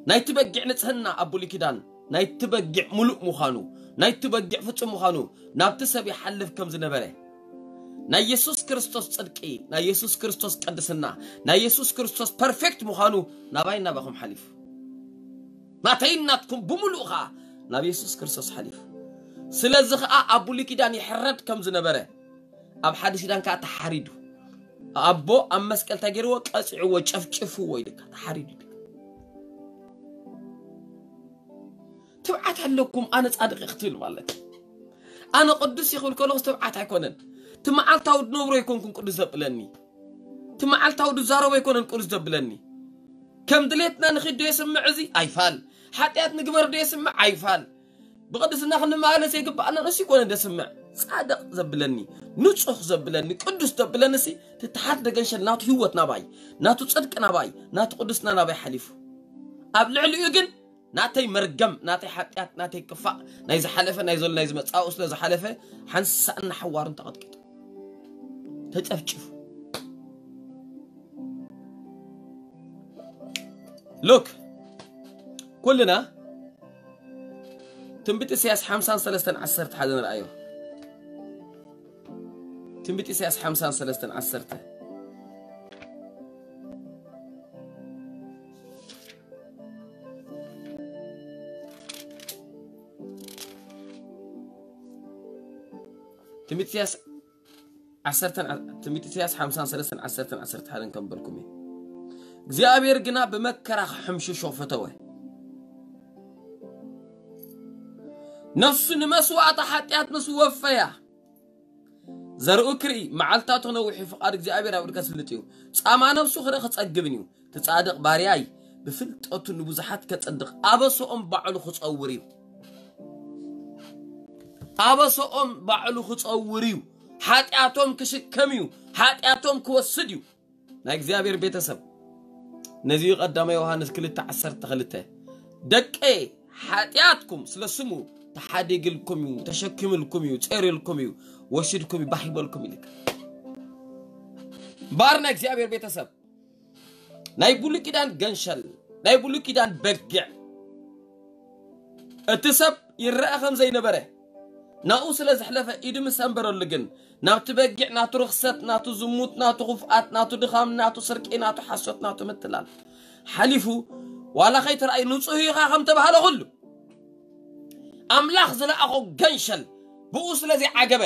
ናይቲ በጊዕ ንጽህና ኣብ ብሉይ ኪዳን ናይቲ በጊዕ ምሉእ ምዃኑ ናይቲ በጊዕ ፍጹም ምዃኑ ናብቲ ሰብ ይሓልፍ ከም ዝነበረ ናይ የሱስ ክርስቶስ ጽድቂ ናይ የሱስ ክርስቶስ ቅድስና ናይ የሱስ ክርስቶስ ፐርፌክት ምዃኑ ናባይ ናባኹም ሓሊፉ ናተይን ናትኩም ብምሉእ ኸዓ ናብ የሱስ ክርስቶስ ሓሊፉ ስለዚ ኸዓ ኣብ ብሉይ ኪዳን ይሕረድ ከም ዝነበረ ኣብ ሓድሽ ኪዳን ከዓ ተሓሪዱ ኣቦ ኣብ መስቀል እንታይ ገይርዎ ቀፂዕዎ ጨፍጭፍዎ ኢልካ ተሓሪዱ ኢልካ ትብዓት ኣለኩም ኣነ ፃድቂ ክትብል ማለት ኣነ ቅዱስ ይኽብል ከለኹስ ትብዓት ኣይኮነን ትመዓልታዊ ድነብሮ ኣይኮንኩን ቅዱስ ዘብለኒ ትመዓልታዊ ድዛረቦ ኣይኮነን ቅዱስ ዘብለኒ ከም ድሌትና ንኺድ ዶ የስምዕ እዚ ኣይፋል ሓጢኣት ንግበር ዶ የስምዕ ኣይፋል ብቕድስና ክንመላለስ የግብኣና። ንሱ ይኮነ ደስምዕ ጻድቕ ዘብለኒ፣ ንጹህ ዘብለኒ፣ ቅዱስ ዘብለኒ ሲ ትተሓት ደገንሸል ናቱ ህይወት ናባይ፣ ናቱ ጽድቂ ናባይ፣ ናቱ ቅዱስና ናባይ ሓሊፉ። ኣብ ልዕሊኡ ግን ናተይ መርገም፣ ናተይ ሓጢኣት፣ ናተይ ክፋእ፣ ናይ ዝሓለፈ፣ ናይ ዘሎ፣ ናይ ዝመጻኡ ስለ ዝሓለፈ ሓንሳእን ሓዋሩን ተቐጥቂጡ፣ ተጨፍጭፉ። ሉክ ኩልና ትንቢት ኢሳያስ ሓምሳን ሰለስተን ዓሰርተ ሓደ ንርኣዮ። ትንቢት ኢሳያስ ሓምሳን ሰለስተን ዓሰርተ። ትንቢት ኢሳያስ ዓሰርተን ትንቢት ኢሳያስ ሓምሳን ሰለስተን ዓሰርተን ዓሰርተ ሓደን ከም በልኩም እዩ። እግዚኣብሔር ግና ብመከራ ክሕምሽሾ ፈተወ። ነፍሱ ንመስዋእቲ ሓጢኣት ምስ ወፈያ፣ ዘርኡ ክርኢ፣ መዓልታቱ ክነውሕ እዩ፣ ፍቓድ እግዚኣብሔር ኣብ ኢዱ ከስልጥ እዩ። ጻማ ነፍሱ ክርኢ ክጸግብን እዩ። እቲ ጻድቕ ባርያይ ብፍልጠቱ ንብዙሓት ከጸድቕ ኣበሰኦም ባዕሉ ክጸውር እዩ። ኣበሰኦም ባዕሉ ክጸውር እዩ። ሓጢኣቶም ክሽከም እዩ። ሓጢኣቶም ክወስድ እዩ። ናይ እግዚኣብሔር ቤተሰብ፣ ነዚ እዩ ቀዳማይ ዮሃንስ ክልተ ዓሰርተ ክልተ፣ ደቀ ሓጢኣትኩም ስለ ስሙ ተሓዲግልኩም እዩ፣ ተሸኪምልኩም እዩ፣ ጸሪልኩም እዩ፣ ወሲድኩም እዩ፣ ባሂበልኩም ይልካ። ባር ናይ እግዚኣብሔር ቤተሰብ፣ ናይ ብሉይ ኪዳን ገንሸል፣ ናይ ብሉይ ኪዳን በጊዕ፣ እቲ ሰብ ይረአ ከም ዘይነበረ፣ ናብኡ ስለ ዘሕለፈ ኢዱ ምስ ኣንበረሉ ግን፣ ናብቲ በጊዕ ናቱ ርኽሰት፣ ናቱ ዝሙት፣ ናቱ ክፍኣት፣ ናቱ ድኻም፣ ናቱ ስርቂ፣ ናቱ ሓሶት፣ ናቱ ምትላል ሓሊፉ፣ ዋላ ከይተራእዩ ንጹህ ኢኻ ከም ተባህለ ኩሉ፣ ኣምላኽ ዝለኣኾ ገንሸል ብኡ ስለ ዘይዓገበ፣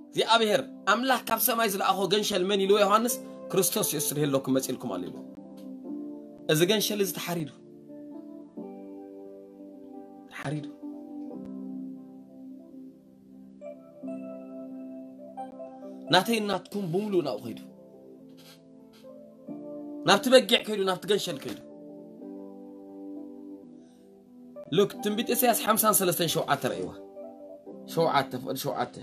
እግዚኣብሔር ኣምላኽ ካብ ሰማይ ዝለኣኾ ገንሸል መን ኢልዎ ዮሃንስ? ክርስቶስ የሱስ ርሄለኩም መጺልኩም ኣሎ ኢልዎ። እዚ ገንሸል እዚ ተሓሪዱ፣ ተሓሪዱ። ናተይ ናትኩም ብምሉእ ናብኡ ከይዱ፣ ናብቲ በጊዕ ከይዱ፣ ናብቲ ገንሸል ከይዱ። ሉክ ትንቢት ኢሳያስ ሓምሳን ሰለስተን ሸውዓተ ረእይዋ። ሸውዓተ፣ ፍቕዲ ሸውዓተ።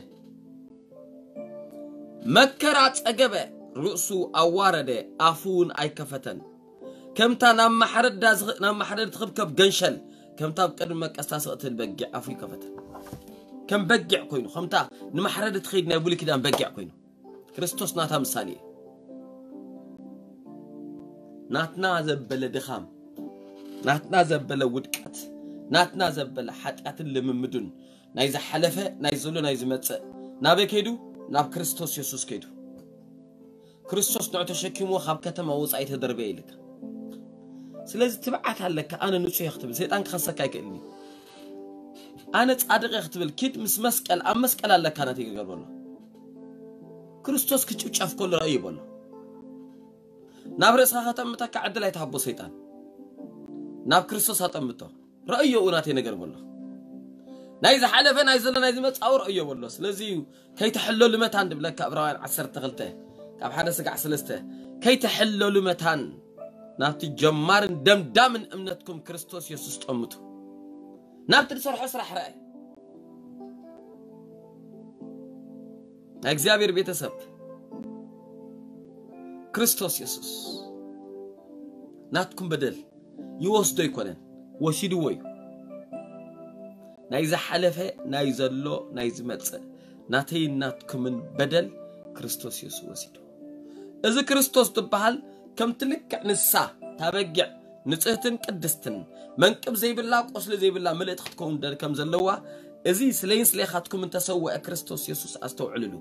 መከራ ጸገበ፣ ርእሱ ኣዋረደ፣ ኣፉ እውን ኣይከፈተን። ከምታ ናብ ማሕረዳ ዝኽ-፣ ናብ ማሕረድ ትኽብከብ ገንሸል፣ ከምታ ኣብ ቅድሚ መቀስታ ስቕ ትብል በጊዕ ኣፉ ይከፈተ። ከም በጊዕ ኮይኑ፣ ከምታ ንማሕረድ ትኸይድ ናይ ብሉይ ኪዳን በጊዕ ኮይኑ። ክርስቶስ ናታ ምሳሌ እዩ። ናትና ዘበለ ድኻም፣ ናትና ዘበለ ውድቀት፣ ናትና ዘበለ ሓጢኣትን ልምምዱን፣ ናይ ዝሓለፈ፣ ናይ ዘሎ፣ ናይ ዝመጽእ፣ ናበይ ከይዱ? ናብ ክርስቶስ የሱስ ከይዱ። ክርስቶስ ንዑ ተሸኪምዎ ካብ ከተማ ወጻኢ ተደርበየ ኢልካ። ስለዚ ትብዓት ኣለካ፣ ኣነ ንጹህ እየ ክትብል፣ ሰይጣን ክኸሰካ ኣይክእልን እዩ። ኣነ ጻድቕ እየ ክትብል፣ ኪድ ምስ መስቀል፣ ኣብ መስቀል ኣለካ ናተይ ገገር በሎ። ክርስቶስ ክጭፍጨፍ ከሎ ረእዩ በሎ። ናብ ርእስኻ ከተምተካ ዕድል ኣይትሃቦ ሰይጣን። ናብ ክርስቶስ ኣጠምቶ። ረእዮ ናተይ ነገር በሎ። ናይ ዝሓለፈ፣ ናይ ዘሎ፣ ናይ ዝመጻኡ ረእዮ በሎ። ስለዚ እዩ ከይተሕለሉ መታን ድብለካ ዕብራውያን ዓሰርተ ክልተ ካብ ሓደ ስጋዕ ሰለስተ፣ ከይተሕለሉ መታን ናብቲ ጀማርን ደምዳምን እምነትኩም ክርስቶስ የሱስ ጠምቱ። ናብቲ ዝሰርሖ ስራሕ ረኣይ። ናይ እግዚኣብሔር ቤተሰብ፣ ክርስቶስ የሱስ ናትኩም በደል ይወስዶ ኣይኮነን፣ ወሲድዎ እዩ። ናይ ዝሓለፈ፣ ናይ ዘሎ፣ ናይ ዝመጽእ፣ ናተይን ናትኩምን በደል ክርስቶስ የሱስ ወሲዱ። እዚ ክርስቶስ ዝበሃል ከምቲ ልክዕ ንሳ ታበጊዕ ንጽህትን ቅድስትን መንቅብ ዘይብላ፣ ቁስሊ ዘይብላ ምልእቲ ክትከውን ደ-፣ ከም ዘለዋ፣ እዚ ስለይን ስሌኻትኩም እንተሰውአ ክርስቶስ የሱስ ኣስተውዕልሉ።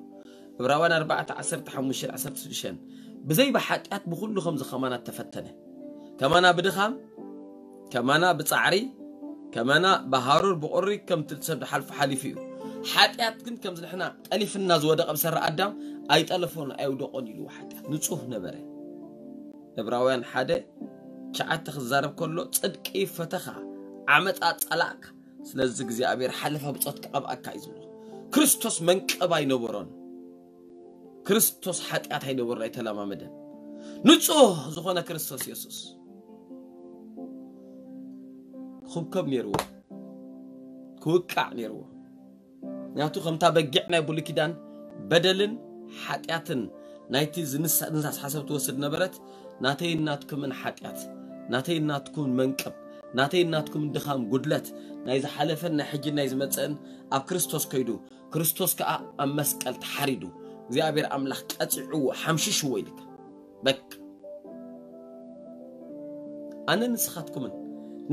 ዕብራውያን ኣርባዕተ ዓሰርተ ሓሙሽተ ዓሰርተ ሽዱሽተ፣ ብዘይ ብሓጢኣት ብኹሉ ከምዚ ከማና ተፈተነ። ከማና ብድኻም፣ ከማና ብጻዕሪ፣ ከማና ብሃሩር ብቑሪ ከምቲ ሰብ ዝሓልፎ ሓሊፉ እዩ። ሓጢኣት ግን ከምዚ ንሕና ጠሊፍና ዝወደቐ ብሰሪ ኣዳም ኣይጠለፎን ኣይውደቖን ኢሉ ሓጢኣት ንጹህ ነበረ። ዕብራውያን ሓደ ትሽዓተ ክዛረብ ከሎ፣ ጽድቂ ፈተኻ፣ ዓመጻ ጸላእካ፣ ስለዚ እግዚኣብሔር ሓለፋ ብጾትካ ቀብኣካ እዩ ዝብሎ። ክርስቶስ መንቀብ ኣይነበሮን። ክርስቶስ ሓጢኣት ኣይነበሮን፣ ኣይተለማመደን። ንጹህ ዝኾነ ክርስቶስ የሱስ ክብከብ ነይርዎ። ክውቃዕ ነይርዎ። ምክንያቱ ከምታ በጊዕ ናይ ብሉይ ኪዳን በደልን ሓጢኣትን ናይቲ ዝንሳ- ዝንሳስ ሓሳብ ትወስድ ነበረት። ናተይን ናትኩምን ሓጢኣት፣ ናተይን ናትኩምን መንቅብ፣ ናተይን ናትኩምን ድኻም፣ ጉድለት፣ ናይ ዝሓለፈን ናይ ሕጂን ናይ ዝመጽእን ኣብ ክርስቶስ ከይዱ፣ ክርስቶስ ከኣ ኣብ መስቀል ተሓሪዱ፣ እግዚኣብሔር ኣምላኽ ቀጺዕዎ፣ ሓምሽሽዎ ኢልካ። በቃ ኣነ ንስኻትኩምን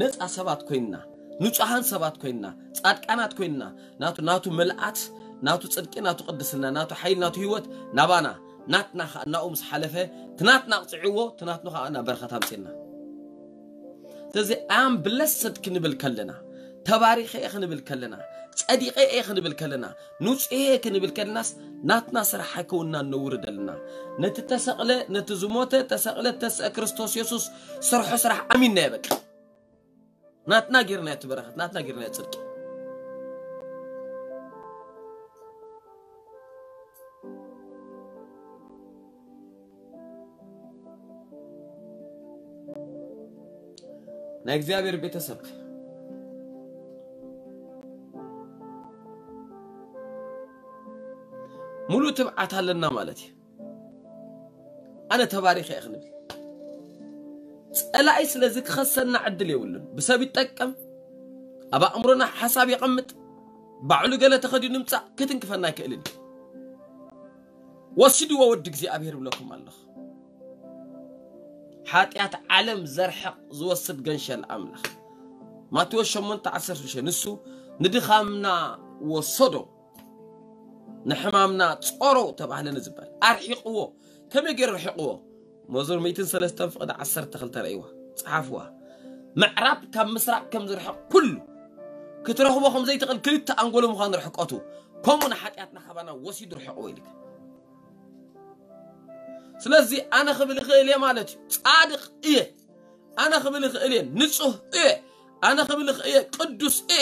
ነፃ ሰባት ኮይንና፣ ንጹሃን ሰባት ኮይንና፣ ጻድቃናት ኮይንና፣ ናቱ ናቱ ምልኣት፣ ናቱ ጽድቂ፣ ናቱ ቅድስና፣ ናቱ ሓይሊ፣ ናቱ ህይወት ናባና፣ ናትና ኸኣ ናኡ ምስ ሓለፈ፣ ትናትና ኣቕጽዕዎ፣ ትናትኑ ኸኣ ናብ በረኸት ኣምጽና። ስለዚ ኣም ብለሰድ ክንብል ከለና፣ ተባሪኸ እየ ክንብል ከለና፣ ጸዲቐ እየ ክንብል ከለና፣ ንጹህ እየ ክንብል ከለናስ ናትና ስራሕ ኣይከውንና ነውርደልና። ነቲ ተሰቕለ፣ ነቲ ዝሞተ፣ ተሰቕለ፣ ተስአ ክርስቶስ የሱስ ስርሖ ስራሕ ኣሚንና እየ በቃ። ናትና ጌርና እቲ በረኸት፣ ናትና ጌርና ጽድቂ። ናይ እግዚኣብሔር ቤተሰብ ሙሉእ ትብዓት ኣለና ማለት እዩ። ኣነ ተባሪኸ እየ ክንብል ጸላኢ ስለዚ ክኸሰና ዕድል የብሉን። ብሰብ ይጠቀም፣ ኣብ ኣእምሮና ሓሳብ የቐምጥ፣ ባዕሉ ገለ ተኸዲኑ ምጻእ ክትንክፈና ኣይክእልን እዩ። ወሲድዎ ወዲ እግዚኣብሔር ብለኩም ኣለኹ። ሓጢኣት ዓለም ዘርሕቕ ዝወስድ ገንሸል ኣምላኽ። ማቴዎስ ሸሞንተ ዓሰርተ ሽዱሽተ ንሱ ንድኻምና ወሰዶ፣ ንሕማምና ጾሮ ተባህለ ንዝበል ኣርሒቕዎ። ከመይ ገይሩ ርሒቕዎ? መዝሙር ሚእትን ሰለስተን ፍቕዲ ዓሰርተ ክልተ ረእይዋ፣ ጸሓፍዋ። ምዕራብ ካብ ምስራቕ ከም ዝርሕቕ ኩሉ፣ ክትረኽቦ ከም ዘይትኽእል ክልተ ኣንጎሎ ምዃኑ ርሕቀቱ፣ ከምኡ ንሓጢኣትና ካባና ወሲዱ ርሕቕዎ ኢልካ። ስለዚ ኣነ ክብል እኽእል እየ ማለት እዩ። ጻድቕ እየ። ኣነ ክብል እኽእል እየ። ንጹህ እየ። ኣነ ክብል እኽእል እየ። ቅዱስ እየ።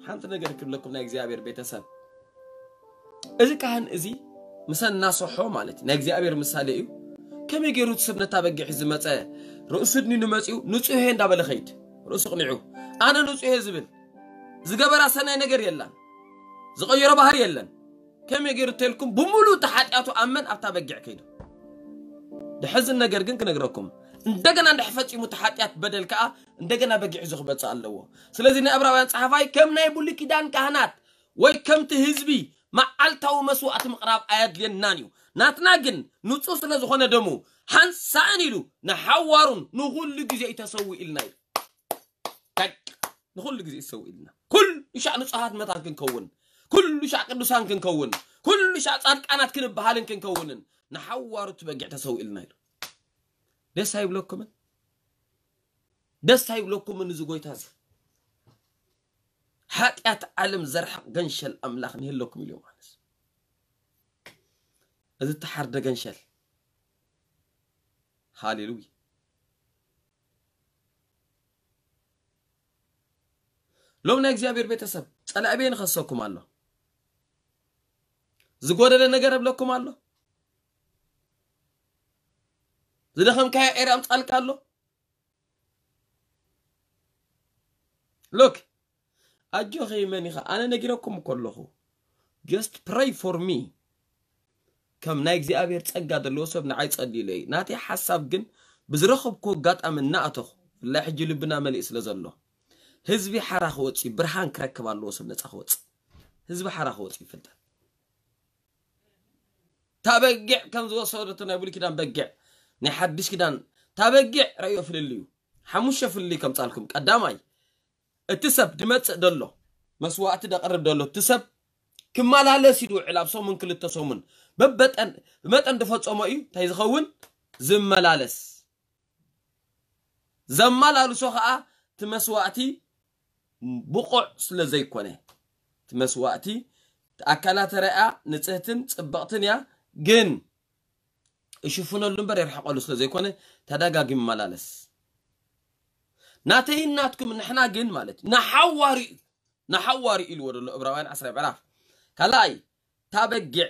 ሓንቲ ነገር ክብለኩም ናይ እግዚኣብሔር ቤተሰብ። እዚ ካህን እዚ ምሰ እናሰሖ ማለት እዩ። ናይ እግዚኣብሔር ምሳሌ እዩ። ከመይ ገይሩ እቲ ሰብ ነታ በጊዕ ዝመጸ ርእሱ ድኒኑ መጺኡ ንጹህ እየ እንዳበለ ኸይድ። ርእሱ ቅኒዑ ኣነ ንጹህ እየ ዝብል ዝገበራ ሰናይ ነገር የላን። ዝቐየሮ ባህሪ የለን። ከመይ ገይሩ ተልኩም ብምሉእ እቲ ሓጢኣቱ ኣብ መን ኣብታ በጊዕ ከይዱ። ድሕዝን ነገር ግን ክነግረኩም። እንደገና እንድሕር ፈጺሙ እቲ ሓጢኣት በደል ከኣ እንደገና በጊዕ ሒዙ ክመጽእ ኣለዎ። ስለዚ ናይ ዕብራውያን ጸሓፋይ ከም ናይ ብሉይ ኪዳን ካህናት ወይ ከምቲ ህዝቢ መዓልታዊ መስዋእቲ ምቕራብ ኣየድልየናን እዩ። ናትና ግን ንጹህ ስለ ዝኾነ ደሙ ሓንሳእን ኢሉ ንሓዋሩን ንኹሉ ግዜ እዩ ተሰዊእልና እዩ። በቃ ንኹሉ ግዜ ይሰውእልና። ኩሉ ሻዕ ንጹሃት መታን ክንከውን፣ ኩሉ ሻዕ ቅዱሳን ክንከውን፣ ኩሉ ሻዕ ጻድቃናት ክንበሃልን ክንከውንን ንሓዋሩ እቲ በጊዕ ተሰዊእልና ኢሉ። ደስ ኣይብለኩምን? ደስ ኣይብለኩምን? እዚ ጎይታ እዚ ሓጢኣት ዓለም ዘርሕቕ ገንሸል ኣምላኽ ንህለኩም ኢሉ ማለት እዚ ተሓርደ ገንሸል። ሃሌሉያ። ሎም ናይ እግዚኣብሔር ቤተሰብ ጸላኢ በየን ይኸሰኩም ኣሎ? ዝጎደለ ነገር እብለኩም ኣሎ? ዝደኸምካዮ ኤርያ ኣምጻልካ ኣሎ? ሉክ ኣጆኺ መን ኢኻ? ኣነ ነጊረኩም እኮ ኣለኹ። Just pray for me። ከም ናይ እግዚኣብሔር ጸጋ ዘለዎ ሰብ ንዓይ ጸልዩለይ። ናተይ ሓሳብ ግን ብዝረኸብኩ ኣጋጣሚ እናኣተኹ ብፍላይ ሕጂ ልብና መሊእ ስለ ዘሎ ህዝቢ ሓራ ክወጽእ እዩ፣ ብርሃን ክረክብ ኣለዎ ሰብ ነጻ ክወጽእ። ህዝቢ ሓራ ክወጽእ እዩ ፍልጠት። እታ በጊዕ ከም ዝወሰደቶ ናይ ብሉይ ኪዳን በጊዕ ናይ ሓድሽ ኪዳን እታ በጊዕ ረእዮ ፍልልዩ። ሓሙሽተ ፍልልይ ከምጻልኩም። ቀዳማይ እቲ ሰብ ድመጽእ ደሎ መስዋእቲ ደቕርብ ደሎ እቲ ሰብ ክመላለስ እዩ ድውዕል ኣብ ሰሙን ክልተ ሰሙን በበጠን ብመጠን ድፈጸሞ እዩ እንታይ ዝኸውን ዝመላለስ ዘመላልሶ ኸዓ እቲ መስዋእቲ ብቑዕ ስለ ዘይኮነ እቲ መስዋእቲ ኣካላ ተረኣ ንጽህትን ጽብቕትን እያ ግን እሽፍነሉ እምበር የርሕቐሉ ስለ ዘይኮነ ተደጋጊሙ መላለስ ናተይን ናትኩም ንሕና ግን ማለት ንሓዋሩ እዩ ንሓዋሩ ኢልዎ ዘሎ እብራውያን ዓስራ ምዕራፍ ካልኣይ እታ በጊዕ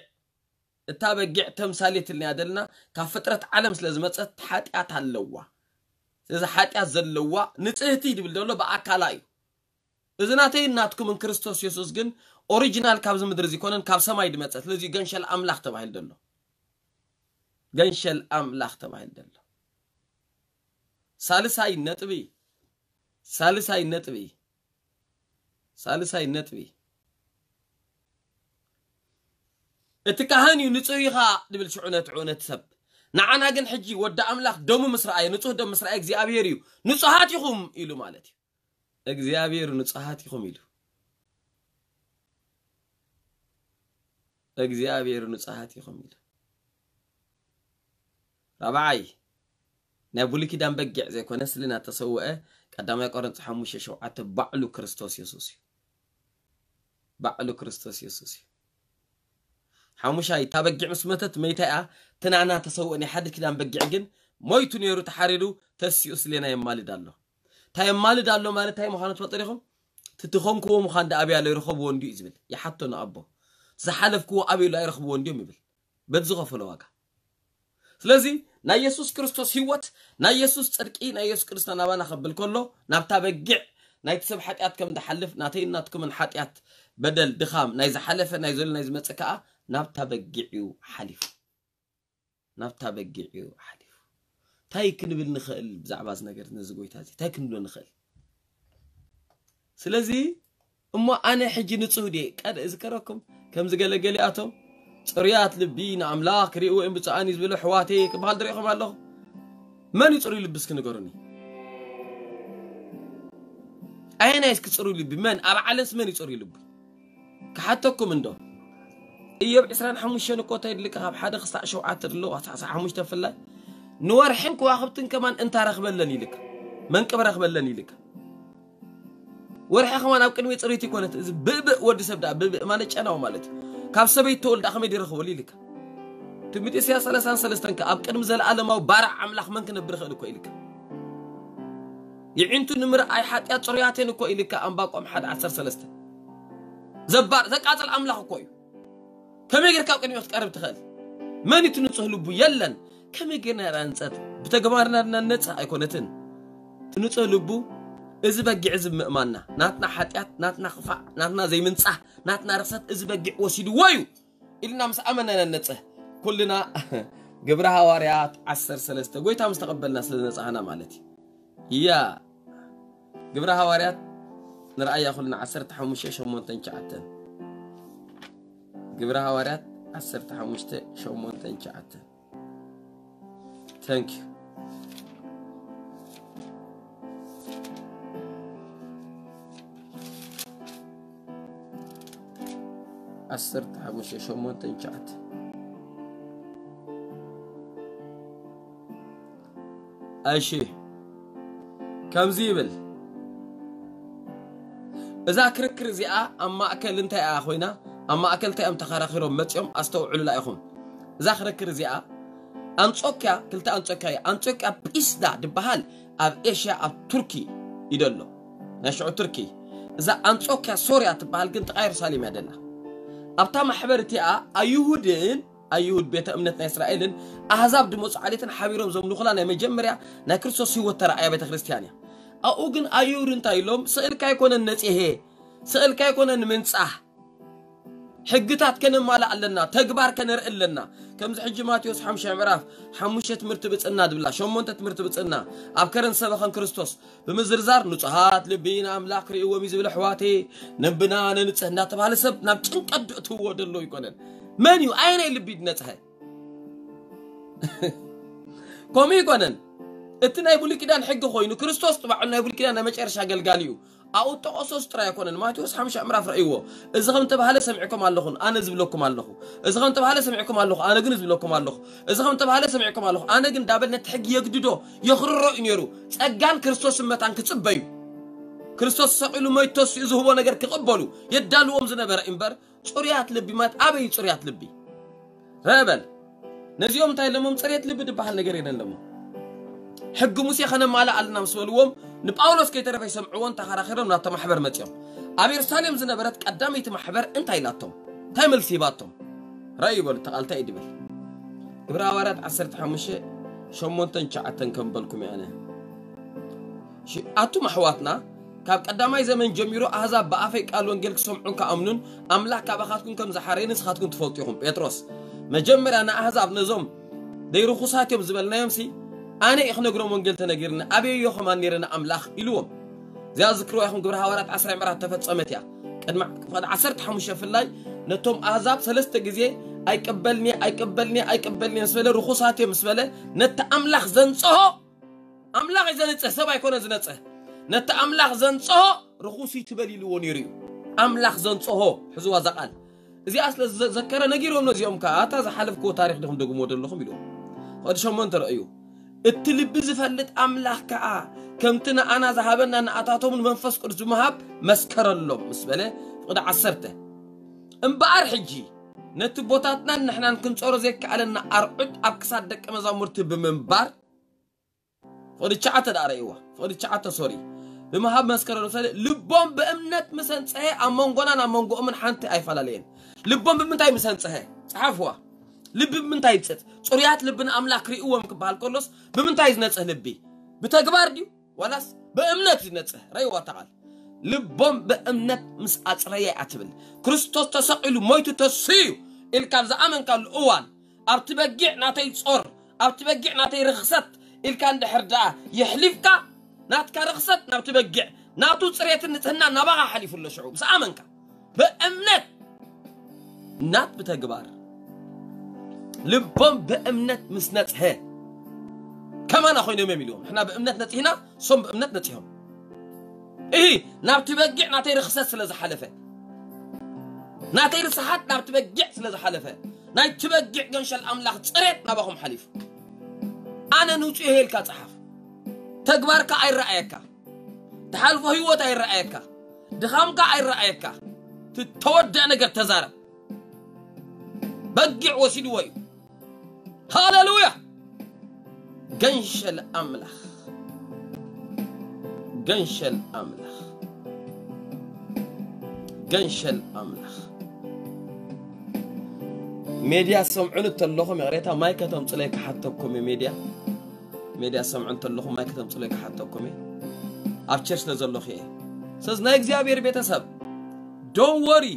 እታ በጊዕ ተምሳሌት ኢልና ዘለና ካብ ፍጥረት ዓለም ስለ ዝመፀት ሓጢኣት ኣለዋ ስለዚ ሓጢኣት ዘለዋ ንፅህቲ ድብል ዘሎ ብኣካላ እዩ እዚ ናተይን ናትኩምን ክርስቶስ የሱስ ግን ኦሪጂናል ካብዚ ምድሪ እዚ ኮነን ካብ ሰማይ ድመጸ። ስለዚ ገንሸል ኣምላኽ ተባሂሉ ዘሎ። ገንሸል ኣምላኽ ተባሂሉ ዘሎ። ሳልሳይ ነጥቢ፣ ሳልሳይ ነጥቢ፣ ሳልሳይ ነጥቢ። እቲ ካህን እዩ ንጹህ ኢኻ ድብል ሽዑ ነቲ ሽዑ ነቲ ሰብ። ንዓና ግን ሕጂ ወዲ ኣምላኽ ደሙ ምስ ረኣየ፣ ንጹህ ደም ምስ ረኣየ እግዚኣብሔር እዩ ንጹሃት ኢኹም ኢሉ ማለት እዩ። እግዚኣብሔር ንጹሃት ኢኹም ኢሉ። እግዚኣብሔር ንጹሃት ኢኹም ኢሉ። ራብዓይ፣ ናይ ብሉይ ኪዳን በጊዕ ዘይኮነ ስለ ናተሰውአ ቀዳማይ ቆሮንቶስ ሓሙሽተ ሸውዓተ ባዕሉ ክርስቶስ የሱስ እዩ። ባዕሉ ክርስቶስ የሱስ እዩ። ሓሙሻይ፣ እታ በጊዕ ምስ መተት መይታ እያ። እቲ ናና ተሰውአ ናይ ሓድሽ ኪዳን በጊዕ ግን ሞይቱ ነይሩ፣ ተሓሪዱ፣ ተሲኡ ስሌና የማልድ ኣሎ። እንታይ የማልድ ኣሎ ማለት እንታይ ምዃኑ ትፈልጡ ዲኹም? እቲ ትኾንክዎ ምዃን ደኣ ኣበይ ኣሎ ይረኸብዎ እንድዩ እዩ ዝብል። ይሓቶ ንኣቦ። ዝሓለፍክዎ ኣበይ ኣሎ ኣይረኽብዎ እንድዮም ይብል። በቲ ዝኸፈሎ ዋጋ። ስለዚ ናይ የሱስ ክርስቶስ ህይወት፣ ናይ የሱስ ጽድቂ፣ ናይ የሱስ ክርስቶስ ናባና ከብል ከሎ ናብታ በጊዕ ናይቲ ሰብ ሓጢኣት ከም ዝሓልፍ ናተይን ናትኩምን ሓጢኣት፣ በደል፣ ድኻም፣ ናይ ዝሓለፈ፣ ናይ ዘሎ፣ ናይ ዝመጽእ ከኣ ናብታ በጊዕ እዩ ሓሊፉ። ናብታ በጊዕ እዩ ሓሊፉ። እንታይ ክንብል ንኽእል ብዛዕባ እዚ ነገር ነዚ ጎይታ እዚ እንታይ ክንብሎ ንኽእል? ስለዚ እሞ ኣነ ሕጂ ንጹህ ድየ? ቀድ እዝከረኩም ከምዚ ገለ ገሊኣቶም ጽሩያት ልቢ ንኣምላኽ ክርእይዎ እዮም ብፁዓን እዩ ዝብሉ ኣሕዋተይ ክበሃል ዝርእኹም ኣለኹ። መን እዩ ጽሩይ ልቢ እስኪ ንገሩኒ? ኣየናይ እስኪ ጽሩይ ልቢ? መን ኣብ ዓለምስ መን እዩ ጽሩይ ልቢ? ክሓተኩም እንዶ እዮብ ዕስራን ሓሙሽተን እኮ እንታይ ይድልካ ካብ ሓደ ክሳዕ ሸውዓተ ድሎ ኣሳዕሳ ሓሙሽተ ፍላይ ንወርሕን ከዋኽብትን ከማን እንታ ረኽበለን ይልካ መንቅብ ረኽበለን ይልካ ወርሒ ከማን ኣብ ቅድሚ ጽሪት ይኮነት እዚ ብብእ ወዲ ሰብ ደኣ ብብእ ማለት ጨናው ማለት እዩ ካብ ሰበይት ተወልዳ ከመይ ይረኽበሉ ይልካ ትንቢት ኢሳያስ ሰላሳን ሰለስተን ከ ኣብ ቅድሚ ዘለኣለማዊ ባርዕ ኣምላኽ መን ክነብር ይኽእል እኮ ይልካ ይዒንቱ ንምርኣይ ሓጢኣት ጽሩያትን እኮ ኢልካ ኣንባቆም ሓደ ዓሰርተ ሰለስተ ዘባር ዘቃጽል ኣምላኽ እኮ እዩ ከመይ ጌርካ ኣብ ቅድሚኡ ክትቀርብ ትኽእል መን እዩ ትንጹህ ልቡ የለን ከመይ ጌርና ኢና ንጸት ብተግባርና ድና ንነጽህ ኣይኮነትን ትንጹህ ልቡ እዚ በጊዕ እዚ ምእማንና ናትና ሓጢኣት ናትና ክፋእ ናትና ዘይምንጻህ ናትና ርኽሰት እዚ በጊዕ ወሲድዎ እዩ ኢልና ምስ ኣመና ኢና ንነጽህ ኩልና ግብረ ሃዋርያት ዓሰርተ ሰለስተ ጎይታ ምስ ተቐበልና ስለ ዝነጻህና ማለት እዩ እያ ግብረ ሃዋርያት ንርኣያ ኩልና ዓሰርተ ሓሙሽተ ሸሞንተ ትሽዓተ ግብረ ሃዋርያት ዓሰርተ ሓሙሽተ ሸሞንተ ትሽዓተ Thank you. ዓሰርተ ሓሙሽተ ሸሞንተ ትሽዓተ እሺ ከምዚ ይብል እዛ ክርክር እዚኣ ኣብ ማእከል እንታይ እያ ኮይና ኣብ ማእከል እንታይ እዮም ተኸራኺሮም መፂኦም ኣስተውዕሉላ ኢኹም እዛ ክርክር እዚኣ ኣንጾኪያ ክልተ ኣንጾኪያ እዩ ኣንጾኪያ ጲስዳ ድበሃል ኣብ ኤሽያ ኣብ ቱርኪ እዩ ደሎ ናይ ሽዑ ቱርኪ እዛ ኣንጾኪያ ሶርያ ትበሃል ግን ጥቓ የሩሳሌም እያ ደላ ኣብታ ማሕበር እቲኣ ኣይሁድን ኣይሁድ ቤተ እምነት ናይ እስራኤልን ኣህዛብ ድመፁ ዓሌትን ሓቢሮም ዘምልኹላ ናይ መጀመርያ ናይ ክርስቶስ ህይወት ተረኣያ ቤተ ክርስቲያን እያ ኣብኡ ግን ኣይሁድ እንታይ ኢሎም ስእልካ ኣይኮነን ነፂሄ ስእልካ ኣይኮነን ምንፃህ ሕግታት ከነማልእ ኣለና ተግባር ከነርኢ ኣለና ከምዚ ሕጂ ማቴዎስ ሓምሻ ምዕራፍ ሓሙሽተ ትምህርቲ ብፅና ድብላ ሸሞንተ ትምህርቲ ብፅና ኣብ ከረን ሰበኸን ክርስቶስ ብምዝርዛር ንጹሃት ልቢ ንኣምላኽ ክርእይዎም እዩ ዝብል ኣሕዋተይ ነብና ነንጽህ እንዳተባሃለ ሰብ ናብ ጭንቀት ድእትውዎ ደሎ ይኮነን መን እዩ ኣየናይ ልቢ ድነጽሀ ከምኡ ይኮነን እቲ ናይ ብሉይ ኪዳን ሕጊ ኮይኑ ክርስቶስ ጥባዕሉ ናይ ብሉይ ኪዳን ናይ መጨረሻ ኣገልጋሊ እዩ ኣብኡ ጠቐሶስ ጥራይ ኣይኮነን ማቴዎስ ሓምሻ ምዕራፍ ረእይዎ እዚ ከም ተባህለ ሰሚዕኩም ኣለኹን ኣነ ዝብለኩም ኣለኹ እዚ ከም ተባህለ ሰሚዕኩም ኣለኹ ኣነ ግን ዝብለኩም ኣለኹ እዚ ከም ተባህለ ሰሚዕኩም ኣለኹ ኣነ ግን ዳበል ነቲ ሕጊ የግድዶ የኽርሮ እዩ ነይሩ ጸጋን ክርስቶስን መታን ክጽበዩ ክርስቶስ ሰቒሉ መይቶ ተሲኡ ዝህቦ ነገር ክቕበሉ የዳልዎም ዝነበረ እምበር ጽሩያት ልቢ ማለት ኣበይ ጽሩያት ልቢ ረበል ነዚኦም እንታይ ለሞም ጽሬት ልቢ ዝበሃል ነገር የለን ለሞ ሕጊ ሙሴ ከነማልእ ኣለና ምስ በልዎም ንጳውሎስ ከይተረፈ ይሰምዕዎን ተኸራኺሮም ናብታ ማሕበር መጺኦም ኣብ የሩሳሌም ዝነበረት ቀዳመይቲ ማሕበር እንታይ ኢላቶም እንታይ መልሲ ሂባቶም ራእዩ በሉ ተቓልታ እዩ ድብል ግብረ ሃዋርያት ዓሰርተ ሓሙሽተ ሸሞንተን ትሽዓተን ከም በልኩም እየ ኣነ ኣቱም ኣሕዋትና ካብ ቀዳማይ ዘመን ጀሚሩ ኣህዛብ ብኣፈይ ቃል ወንጌል ክሰምዑን ክኣምኑን ኣምላኽ ካባኻትኩም ከም ዝሓረየ ንስኻትኩም ትፈልጡ ኢኹም። ጴጥሮስ መጀመርያ ንኣህዛብ ነዞም ደይ ርኹሳት እዮም ዝበልናዮም ሲ ኣነ እየ ክነግሮም ወንጌል ተነጊርኒ ኣበየዮ ከማን ነይረ ንኣምላኽ ኢልዎም። እዚኣ ዝክርዋ ኢኹም ግብረ ሃዋርያት ዓስራ ምዕራፍ ተፈጸመት እያ። ቅድሚ ፍቕዲ ዓሰርተ ሓሙሽተ ፍላይ ነቶም ኣህዛብ ሰለስተ ግዜ ኣይቀበልኒ ኣይቀበልኒ ኣይቀበልኒ ምስ በለ ርኹሳት እዮም ምስ በለ ነቲ ኣምላኽ ዘንጽሆ ኣምላኽ እዩ ዘንጽህ ሰብ ኣይኮነ ዝነጽህ ነቲ ኣምላኽ ዘንጽሆ ርኹስ እዩ ትበል ኢልዎ ነይሩ እዩ። ኣምላኽ ዘንጽሆ ሕዝዋ እዛ ቃል እዚኣ ስለ ዝዘከረ ነጊሮም ነዚኦም ከዓ ኣታ ዝሓለፍክዎ ታሪክ ድኹም ደግሞ ዘለኹም ኢልዎም። ፍቕዲ ሸሞንተ ረእዩ እቲ ልቢ ዝፈልጥ ኣምላኽ ከዓ ከምቲ ንኣና ዝሃበና ንኣታቶምን መንፈስ ቅዱስ ብምሃብ መስከረሎም ምስ በለ ፍቕዲ ዓሰርተ እምበኣር ሕጂ ነቲ ቦታትናን ንሕናን ክንጸሮ ዘይከኣለና ኣርዑት ኣብ ክሳድ ደቂ መዛሙርቲ ብምንባር ፍቕዲ ትሽዓተ ደኣ ረእይዋ ፍቕዲ ትሽዓተ ሶሪ ብምሃብ መስከረሉ ሰለ ልቦም ብእምነት ምሰንፀሀ ኣብ መንጎናን ኣብ መንጎኦምን ሓንቲ ኣይፈላለየን። ልቦም ብምንታይ ምሰንፀሀ? ፀሓፍዋ። ልቢ ብምንታይ ይፅት? ፅሩያት ልቢ ንኣምላኽ ክርእይዎም ክበሃል ከሎስ ብምንታይ ዝነፅህ ልቢ? ብተግባር ድዩ ዋላስ ብእምነት ዝነፅህ? ረእይዋ እታ ቃል። ልቦም ብእምነት ምስ ኣፅረየ እያ ትብል። ክርስቶስ ተሰቒሉ ሞይቱ ተስዩ ኢልካ ኣብ ዝኣመንካሉ እዋን ኣብቲ በጊዕ ናተይ ጾር ኣብቲ በጊዕ ናተይ ርኽሰት ኢልካ እንድሕር ደኣ የሕሊፍካ ናትካ ርኽሰት ናብቲ በጊዕ ናቱ ጽሬትን ንጽህና ናባኻ ሓሊፉ ኣሎ ሽዑ ምስ ኣመንካ ብእምነት ናት ብተግባር ልቦም ብእምነት ምስ ነጽሀ ከማና ኮይኖም እዮም ኢልዎም ንሕና ብእምነት ነጺህና ሶም ብእምነት ነጺሆም እሂ ናብቲ በጊዕ ናተይ ርኽሰት ስለ ዝሓለፈ ናተይ ርስሓት ናብቲ በጊዕ ስለ ዝሓለፈ ናይቲ በጊዕ ገንሸል ኣምላኽ ጽሬት ናባኹም ሓሊፉ ኣነ ንውጽኡ ኢልካ ጸሓፍ ተግባርካ ኣይረኣየካ ትሓልፎ ህይወት ኣይረኣየካ ድኻምካ ኣይረኣየካ ትተወደአ ነገር ተዛረብ በጊዕ ወሲድዎ እዩ ሃሌሉያ ገንሸል ኣምላኽ ገንሸል ኣምላኽ ገንሸል ኣምላኽ ሜድያ ሰምዑን እንተለኹም ይቕሬታ ማይ ከተምፅለይ ክሓተኩም እዩ ሜድያ ሜድያ ሰምዑ እንተለኹም ማይ ከተምፅለይ ክሓተኩም እዩ ኣብ ቸርች ስለዘለኹ እየ ስለዚ ናይ እግዚኣብሔር ቤተሰብ don't worry